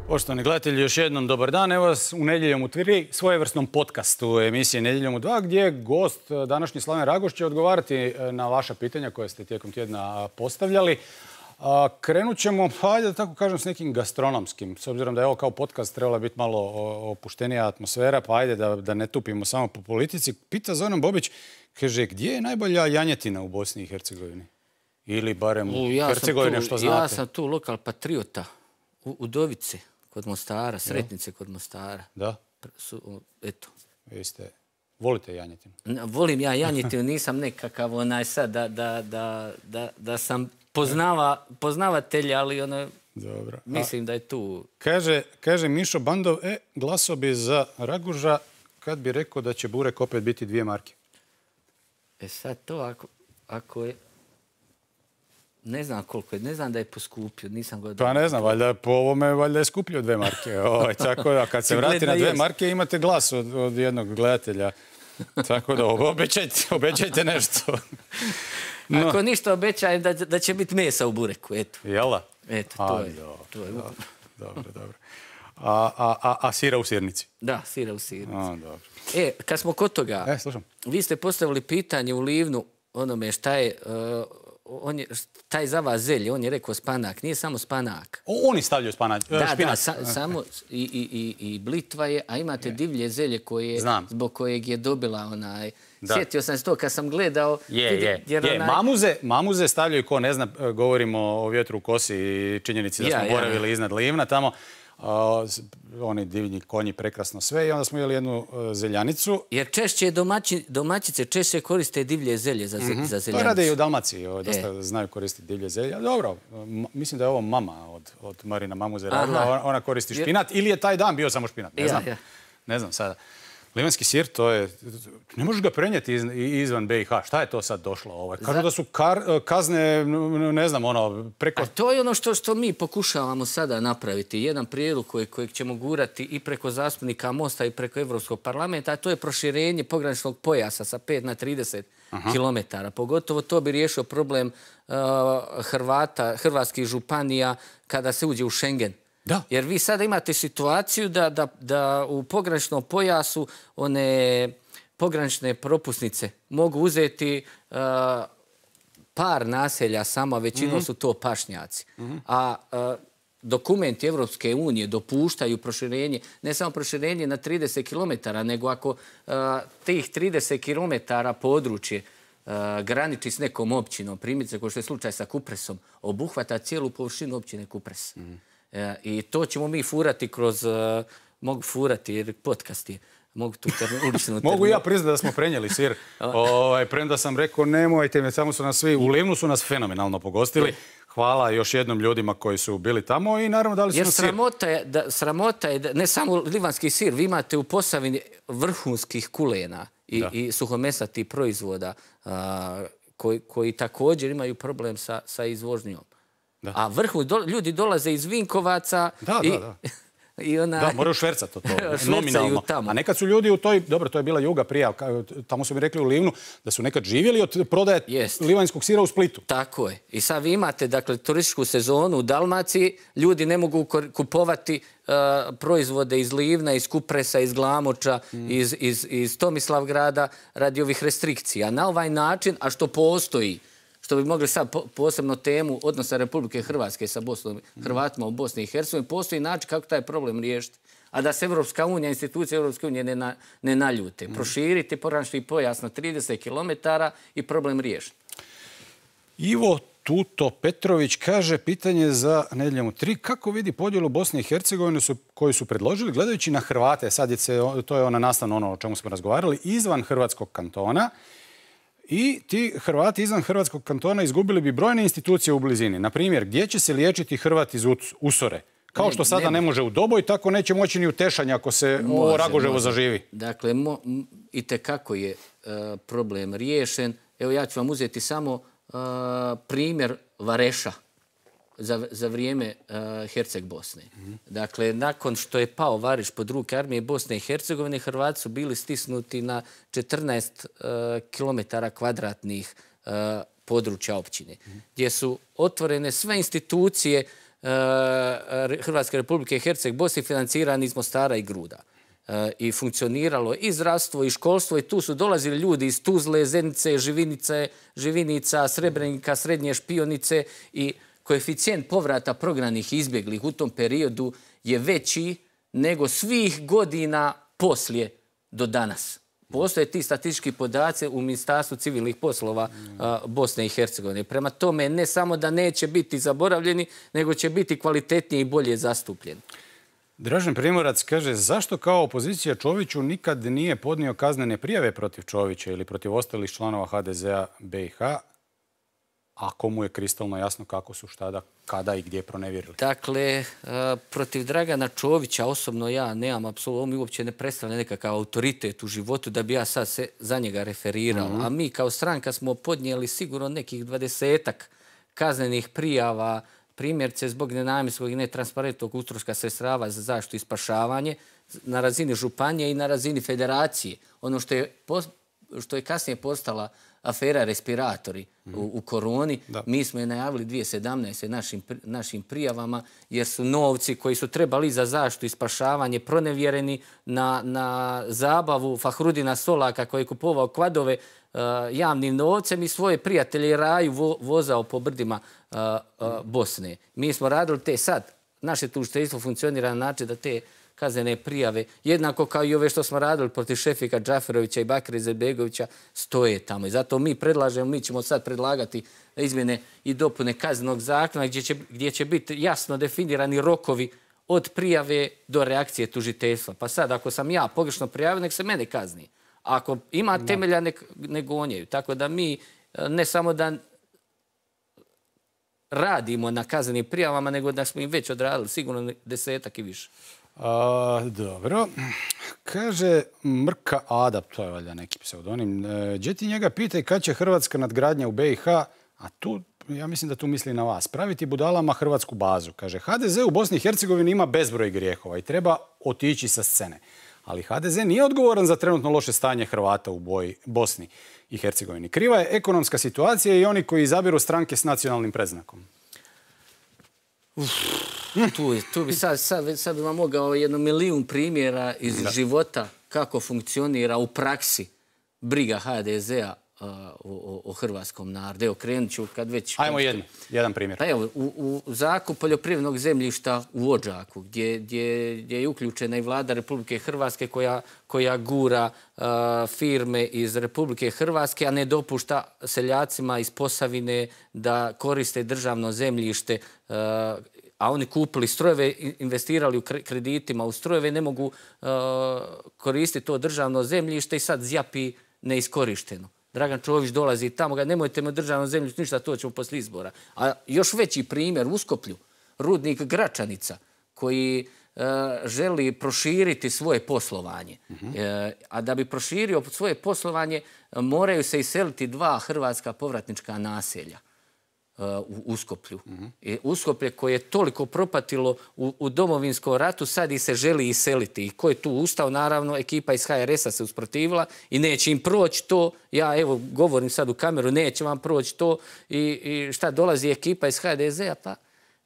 Poštovani gledatelji, još jednom dobar dan. Evo vas u Nedjeljom u tri, svojevrsnom podcastu emisije Nedjeljom u dva, gdje gost današnji Slaven Raguž će odgovarati na vaša pitanja koje ste tijekom tjedna postavljali. Krenut ćemo, hajde da tako kažem, s nekim gastronomskim. S obzirom da je ovo kao podcast trebala biti malo opuštenija atmosfera, pa ajde da, da ne tupimo samo po politici. Pita Zoran Bobić, kaže, gdje je najbolja janjetina u Bosni i Hercegovini? Ili barem u ja Hercegovini, što znate? Ja sam tu lokal patriota u Udovici, kod Mostara, Sretnice kod Mostara. Da? Su, eto. Vi ste, volite janjetinu? Volim ja janjetinu, nisam nekakav onaj sad da, da, da, da, da sam poznava, poznavatelj, ali ono, dobro. Mislim A, da je tu... Kaže, kaže Mišo Bandov, e, glaso bi za Raguža kad bi rekao da će burek opet biti dvije marke. E sad to, ako, ako je... Ne znam koliko je, ne znam da je poskupio, nisam ga... Pa ne znam, valjda po ovome valjda je skupljio dve marke. O, tako da kad se vrati na dve marke imate glas od, od jednog gledatelja. Tako da obećajte, obećajte nešto. No. Ako ništa obećajem da, da će biti mesa u bureku, eto. Jela? Eto, to je. To je. Dobro, dobro, dobro. A, a, a, a sira u sirnici? Da, sira u sirnici. A, dobro. E, kad smo kod toga, e, slušam. Vi ste postavili pitanje u Livnu onome šta je... Uh, on je, taj za vas zelje, on je rekao spanak, nije samo spanak. O, oni stavljaju spanak, da, špinac. Da, sa, samo i, i, i, i blitva je, a imate je. divlje zelje koje, Znam. zbog kojeg je dobila onaj... Da. Sjetio sam se to kad sam gledao... Je, vidi, je, jer je. Onaj... Mamuze, mamuze stavljaju, ko ne zna, govorimo o vjetru u kosi i činjenici da ja, smo boravili ja. iznad Livna tamo. Uh, oni divlji konji, prekrasno sve i onda smo jeli jednu uh, zeljanicu. Jer češće domaći, domaćice češće koriste divlje zelje za, mm-hmm. za zeljanicu. To rade i u Dalmaciji, o, dosta e. znaju koristiti divlje zelje. Dobro, mislim da je ovo mama od, od Marina Mamuze radila, ona, ona koristi špinat ili je taj dan bio samo špinat, ne ja, znam. Ja. Ne znam sada. Livanski sir, to je... Ne možeš ga prenijeti iz, izvan B i H. Šta je to sad došlo? Ovaj? Kažu da su kar, kazne, ne znam, ono, preko... A to je ono što, što mi pokušavamo sada napraviti. Jedan prijedlog koji, kojeg ćemo gurati i preko zastupnika Mosta i preko Evropskog parlamenta, a to je proširenje pograničnog pojasa sa pet na trideset kilometara. Pogotovo to bi riješio problem uh, Hrvata, hrvatskih županija kada se uđe u Schengen. Da. Jer vi sada imate situaciju da, da, da u pograničnom pojasu one pogranične propusnice mogu uzeti uh, par naselja samo, većinom mm-hmm. su to pašnjaci. Mm-hmm. A uh, dokumenti Evropske unije dopuštaju proširenje, ne samo proširenje na trideset kilometara, nego ako uh, tih trideset kilometara područje uh, graniči s nekom općinom, primjerice kao što je slučaj sa Kupresom, obuhvata cijelu površinu općine Kupres. Mm-hmm. I to ćemo mi furati kroz... Uh, mogu furati jer podcast je. Mogu tu ter, uličnu Mogu ja priznati da smo prenijeli sir. ovaj, premda sam rekao nemojte me, samo su nas svi... U Livnu su nas fenomenalno pogostili. Hvala još jednom ljudima koji su bili tamo i naravno dali su jer nas sramota je, da, sramota je da ne samo livanski sir, vi imate u Posavini vrhunskih kulena i, i suhomesatih proizvoda uh, koji, koji također imaju problem sa, sa izvožnjom. Da. A vrhu do, ljudi dolaze iz Vinkovaca da, i... Da, da. I ona... Da, moraju švercati to, to nominalno. A nekad su ljudi u toj, dobro, to je bila Juga prije, tamo su mi rekli u Livnu da su nekad živjeli od prodaje Jest. livanjskog sira u Splitu. Tako je. I sad vi imate, dakle, turističku sezonu u Dalmaciji, ljudi ne mogu kupovati uh, proizvode iz Livna, iz Kupresa, iz Glamoča, mm. iz, iz, iz Tomislavgrada radi ovih restrikcija. Na ovaj način, a što postoji, što bi mogli sad po, posebno temu odnosa Republike Hrvatske sa Bosnom, Hrvatima u Bosni i Hercegovini, postoji način kako taj problem riješiti. A da se Evropska unija, institucije Evropske unije ne, na, ne naljute. Proširiti pogranični pojas na trideset kilometara i problem riješiti. Ivo Tuto Petrović kaže pitanje za Nedjeljom u tri. Kako vidi podjelu Bosne i Hercegovine su, koju su predložili gledajući na Hrvate? Sad je se, to je ona nastavno ono o čemu smo razgovarali, izvan Hrvatskog kantona. I ti Hrvati izvan Hrvatskog kantona izgubili bi brojne institucije u blizini. Na primjer, gdje će se liječiti Hrvat iz Usore? Kao što sada ne, ne može u Doboj, tako neće moći ni u Tešanj ako se može, ovo Raguževo može. zaživi. Dakle, mo, i tekako je uh, problem riješen. Evo ja ću vam uzeti samo uh, primjer Vareša za, za vrijeme uh, Herceg Bosne. Mm-hmm. Dakle, nakon što je pao Vareš pod ruke armije Bosne i Hercegovine, Hrvati su bili stisnuti na četrnaest uh, kilometara kvadratnih uh, područja općine, mm-hmm. gdje su otvorene sve institucije Hrvatske republike Herceg Bosne financirani iz Mostara i Gruda. I funkcioniralo i zdravstvo i školstvo i tu su dolazili ljudi iz Tuzle, Zenice, Živinice, Živinica, Srebrenika, Srednje Špionice i koeficijent povrata prognanih i izbjeglih u tom periodu je veći nego svih godina poslije do danas. Postoje ti statistički podaci u Ministarstvu civilnih poslova Bosne i Hercegovine. Prema tome, ne samo da neće biti zaboravljeni, nego će biti kvalitetnije i bolje zastupljeni. Dražen Primorac kaže, zašto kao opozicija Čoviću nikad nije podnio kaznene prijave protiv Čovića ili protiv ostalih članova ha de zea be i ha, ako mu je kristalno jasno kako su šta, kada i gdje pronevjerili? Dakle, protiv Dragana Čovića osobno ja nemam apsolutno, on mi uopće ne predstavlja nekakav autoritet u životu da bi ja sad se za njega referirao. A mi kao stranka smo podnijeli sigurno nekih dvadesetak kaznenih prijava, primjerce zbog nenamjenskog i netransparentnog utroška sredstava za zaštitu i spašavanje na razini županije i na razini federacije. Ono što je, što je kasnije postala afera respiratori u, u koroni, da. Mi smo je najavili dvije tisuće sedamnaeste. Našim, našim prijavama, jer su novci koji su trebali za zaštitu i spašavanje pronevjereni na, na zabavu Fahrudina Solaka koji je kupovao kvadove uh, javnim novcem i svoje prijatelje Raju vo, vozao po brdima uh, uh, Bosne. Mi smo radili te sad. Naše tužiteljstvo funkcionira na način da te kaznene prijave, jednako kao i ove što smo radili protiv Šefika Džaferovića i Bakira Izetbegovića, stoje tamo. I zato mi predlažemo, mi ćemo sad predlagati izmjene i dopune kaznenog zakona gdje će, gdje će biti jasno definirani rokovi od prijave do reakcije tužiteljstva. Pa sad, ako sam ja pogrešno prijavio, nek se mene kazni. Ako ima temelja, nek, nek gonjaju. Tako da mi ne samo da radimo na kaznenim prijavama, nego da smo im već odradili sigurno desetak i više. A, dobro. Kaže Mrka Ada, to je valjda neki pseudonim. Gdje ti njega pitaj kad će hrvatska nadgradnja u be i ha, a tu, ja mislim da tu misli na vas, praviti budalama hrvatsku bazu. Kaže, ha de ze u Bosni i Hercegovini ima bezbroj grijehova i treba otići sa scene. Ali ha de ze nije odgovoran za trenutno loše stanje Hrvata u boji, Bosni i Hercegovini. Kriva je ekonomska situacija i oni koji izabiru stranke s nacionalnim predznakom. Uf. Tu, tu bi sad, sad, sad bi vam mogao jedno milijun primjera iz da. života kako funkcionira u praksi briga ha de zea uh, o, o hrvatskom narodu. Evo, krenut ću kad već... Ajmo jedan, jedan primjer. Pa evo, u, u zakup poljoprivrednog zemljišta u Odžaku, gdje, gdje, gdje je uključena i vlada Republike Hrvatske koja, koja gura uh, firme iz Republike Hrvatske, a ne dopušta seljacima iz Posavine da koriste državno zemljište, uh, a oni kupili strojeve, investirali u kreditima u strojeve, ne mogu uh, koristiti to državno zemljište i sad zjapi neiskorišteno. Dragan Čović dolazi tamo, ga nemojte me državno zemljište, ništa, to ćemo poslije izbora. A još veći primjer, u Skoplju, rudnik Gračanica, koji uh, želi proširiti svoje poslovanje. Uh-huh. uh, a da bi proširio svoje poslovanje, moraju se iseliti dva hrvatska povratnička naselja u Uskoplju. Uh-huh. Uskoplje koje je toliko propatilo u, u domovinskom ratu, sad i se želi iseliti. I ko je tu ustao, naravno, ekipa iz ha er es a se usprotivila i neće im proći to. Ja, evo, govorim sad u kameru, neće vam proći to. I, i šta dolazi ekipa iz ha de zea? Pa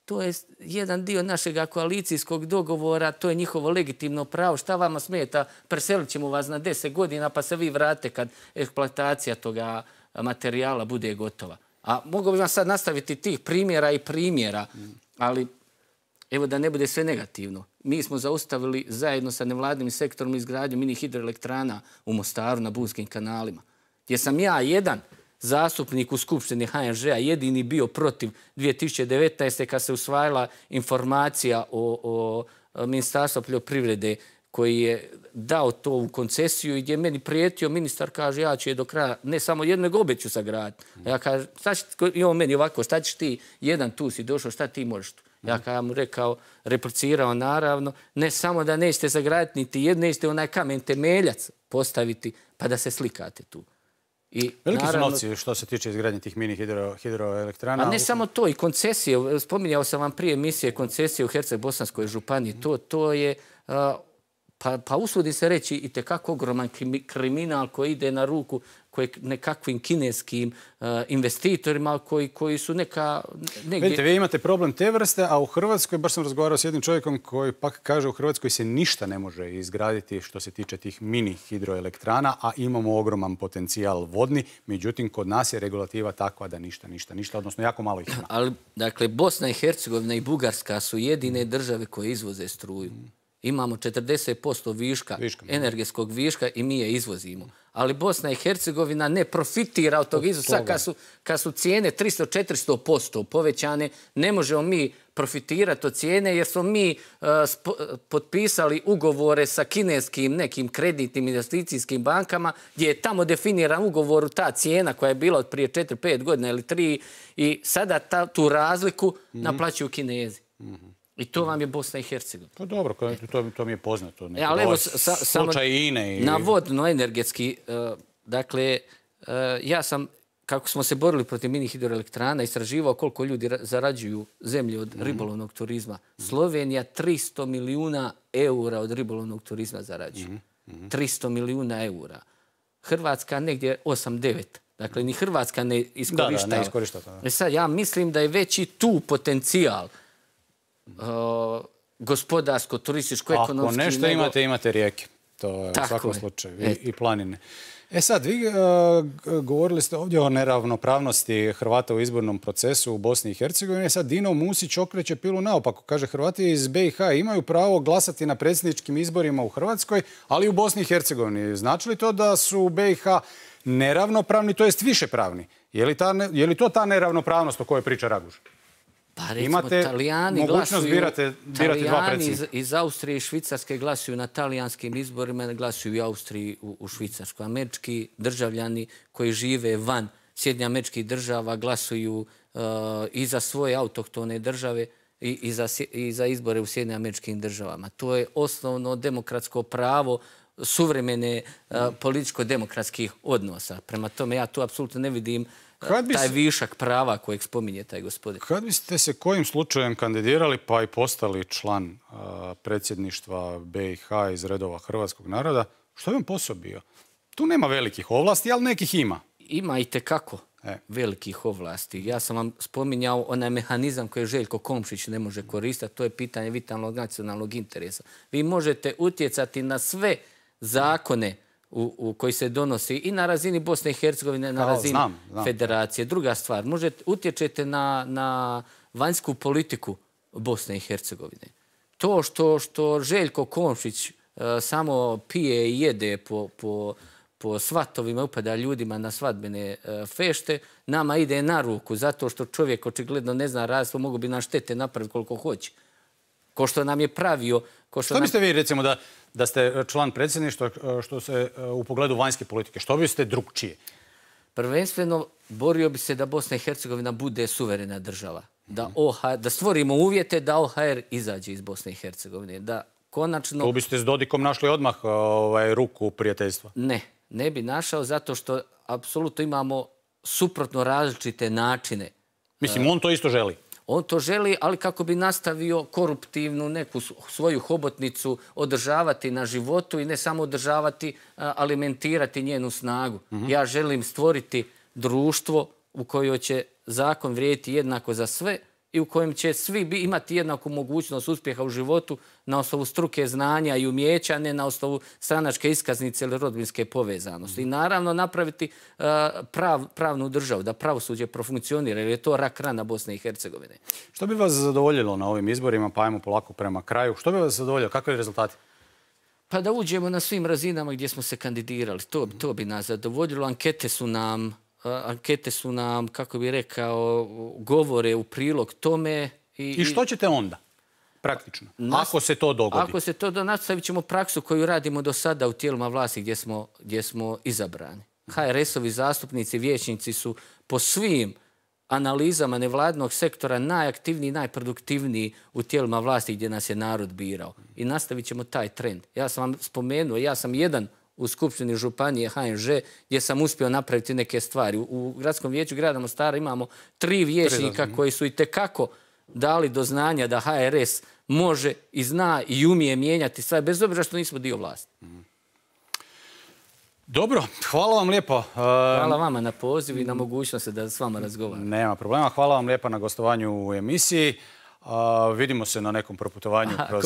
to je jedan dio našeg koalicijskog dogovora, to je njihovo legitimno pravo. Šta vama smeta? Preselit ćemo vas na deset godina pa se vi vrate kad eksploatacija toga materijala bude gotova. A mogu bi vam sad nastaviti tih primjera i primjera, ali evo da ne bude sve negativno. Mi smo zaustavili zajedno sa nevladnim sektorom izgradnju mini hidroelektrana u Mostaru na Bunskim kanalima. Gdje sam ja jedan zastupnik u Skupštini ha en že a jedini bio protiv dvije tisuće devetnaeste. kad se usvajala informacija o, o Ministarstvu poljoprivrede koji je dao to u koncesiju i gdje je meni prijetio, ministar kaže ja ću je do kraja, ne samo jednu, nego obe ću sagraditi. Ja kažem, šta će, i on meni ovako, šta ćeš ti, jedan tu si došao, šta ti možeš tu? Ja kažem mu rekao, replicirao naravno, ne samo da nećete sagraditi niti jednu, nećete onaj kamen temeljac postaviti pa da se slikate tu. I, veliki naravno, su novci što se tiče izgradnje tih mini hidro, hidroelektrana. A ne samo to, i koncesije. Spominjao sam vam prije emisije koncesije u Herceg-Bosanskoj županiji. To, to je uh, Pa, pa usudim se reći i tekako ogroman kriminal koji ide na ruku koji nekakvim kineskim uh, investitorima koji, koji su neka... Negdje... Vidite, vi imate problem te vrste, a u Hrvatskoj, baš sam razgovarao s jednim čovjekom koji pak kaže u Hrvatskoj se ništa ne može izgraditi što se tiče tih mini hidroelektrana, a imamo ogroman potencijal vodni, međutim, kod nas je regulativa takva da ništa, ništa, ništa, odnosno jako malo ih ima. Ali, dakle, Bosna i Hercegovina i Bugarska su jedine države koje izvoze struju. Imamo četrdeset posto viška, viška, energetskog viška i mi je izvozimo. Ali Bosna i Hercegovina ne profitira od tog izvoza. Kad su, kad su cijene tristo do četiristo posto povećane, ne možemo mi profitirati od cijene jer smo mi uh, spo, potpisali ugovore sa kineskim nekim kreditnim investicijskim bankama gdje je tamo definiran ugovor ta cijena koja je bila od prije četiri pet godina ili tri i sada ta, tu razliku mm-hmm. naplaćuju Kinezi. Mm-hmm. I to vam je Bosna i Hercegovina. Pa dobro, to, to mi je poznato. E, ali evo, sa, samo I N E i... na vodno-energetski, uh, dakle, uh, ja sam, kako smo se borili protiv mini hidroelektrana, istraživao koliko ljudi zarađuju zemlje od ribolovnog turizma. Mm. Slovenija tristo milijuna eura od ribolovnog turizma zarađuje. Mm. Mm. tristo milijuna eura. Hrvatska negdje osam devet. Dakle, ni Hrvatska ne iskorišta. Da, da, ne iskorišta to. E sad, ja mislim da je već i tu potencijal Uh, gospodarsko, turističko, ekonomski... Ako nešto nego... imate, imate rijeke. To je u svakom je. slučaju. I, I planine. E sad, vi uh, govorili ste ovdje o neravnopravnosti Hrvata u izbornom procesu u Bosni i Hercegovini. Sad Dino Musić okreće pilu naopako. Kaže, Hrvati iz B i H imaju pravo glasati na predsjedničkim izborima u Hrvatskoj, ali i u Bosni i Hercegovini. Znači li to da su u B i H neravnopravni, to jest višepravni? Je li, ta, je li to ta neravnopravnost o kojoj priča Raguž? Pa recimo, imate Talijani glasuju, birate, birate Talijani iz, iz Austrije i Švicarske glasuju na talijanskim izborima, glasuju i Austriji u, u Švicarskoj. Američki državljani koji žive van Sjedinjenih Američkih država glasuju uh, i za svoje autohtone države i, i, za, i za izbore u Sjedinjenim Američkim državama. To je osnovno demokratsko pravo suvremene uh, političko-demokratskih odnosa. Prema tome, ja tu apsolutno ne vidim taj višak prava kojeg spominje taj gospodin. Kad biste se kojim slučajem kandidirali pa i postali član uh, predsjedništva B i H iz redova hrvatskog naroda, što bi vam posao bio? Tu nema velikih ovlasti, ali nekih ima. Ima i tekako e. velikih ovlasti. Ja sam vam spominjao onaj mehanizam koji Željko Komšić ne može koristiti, to je pitanje vitalnog nacionalnog interesa. Vi možete utjecati na sve zakone U, u koji se donosi i na razini Bosne i Hercegovine, na razini znam, znam. federacije. Druga stvar, možete, utječete na, na vanjsku politiku Bosne i Hercegovine. To što, što Željko Komšić uh, samo pije i jede po, po, po svatovima, upada ljudima na svadbene uh, fešte, nama ide na ruku, zato što čovjek očigledno ne zna razstvo, mogu bi nam štete napraviti koliko hoće. Ko što nam je pravio... Ko što što biste nam... vi, recimo, da, da ste član predsjedništva što se u pogledu vanjske politike? Što biste drugčije? Prvenstveno, borio bi se da Bosna i Hercegovina bude suverena država. Da, O H R, da stvorimo uvjete da O H R izađe iz Bosne i Hercegovine. Da konačno... Tu biste s Dodikom našli odmah ovaj, ruku prijateljstva? Ne, ne bi našao zato što apsolutno imamo suprotno različite načine. Mislim, on to isto želi? On to želi, ali kako bi nastavio koruptivnu neku svoju hobotnicu održavati na životu i ne samo održavati, alimentirati njenu snagu. Mm-hmm. Ja želim stvoriti društvo u kojoj će zakon vrijediti jednako za sve i u kojem će svi imati jednaku mogućnost uspjeha u životu na osnovu struke, znanja i umjeća, ne na osnovu stranačke iskaznice ili rodbinske povezanosti. I naravno napraviti uh, prav, pravnu državu, da pravosuđe profunkcionira, jer je to rak rana Bosne i Hercegovine. Što bi vas zadovoljilo na ovim izborima, pa ajmo polako prema kraju? Što bi vas zadovoljilo? Kakvi rezultati? Pa da uđemo na svim razinama gdje smo se kandidirali. To, to bi nas zadovoljilo. Ankete su nam... ankete su nam, kako bi rekao, govore u prilog tome. I, I što ćete onda, praktično, nas, ako se to dogodi? Ako se to dogodi, nastavit ćemo praksu koju radimo do sada u tijelima vlasti gdje smo, gdje smo izabrani. H R S-ovi zastupnici, vijećnici su po svim analizama nevladnog sektora najaktivniji, najproduktivniji u tijelima vlasti gdje nas je narod birao. I nastavit ćemo taj trend. Ja sam vam spomenuo, ja sam jedan u Skupštini županije H N Ž, gdje sam uspio napraviti neke stvari. U Gradskom vijeću grada Mostara imamo tri vijećnika koji su i tekako dali do znanja da H R S može i zna i umije mijenjati sve, bez obzira što nismo dio vlasti. Dobro, hvala vam lijepo. Hvala vama na poziv i na mogućnosti da s vama razgovaram. Nema problema. Hvala vam lijepa na gostovanju u emisiji. Vidimo se na nekom proputovanju kroz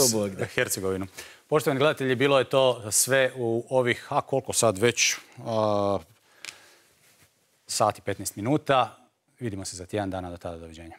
Hercegovinu. Poštovani gledatelji, bilo je to sve u ovih, a koliko sad već, sat i petnaest minuta. Vidimo se za tjedan dana. Do tada, doviđenja.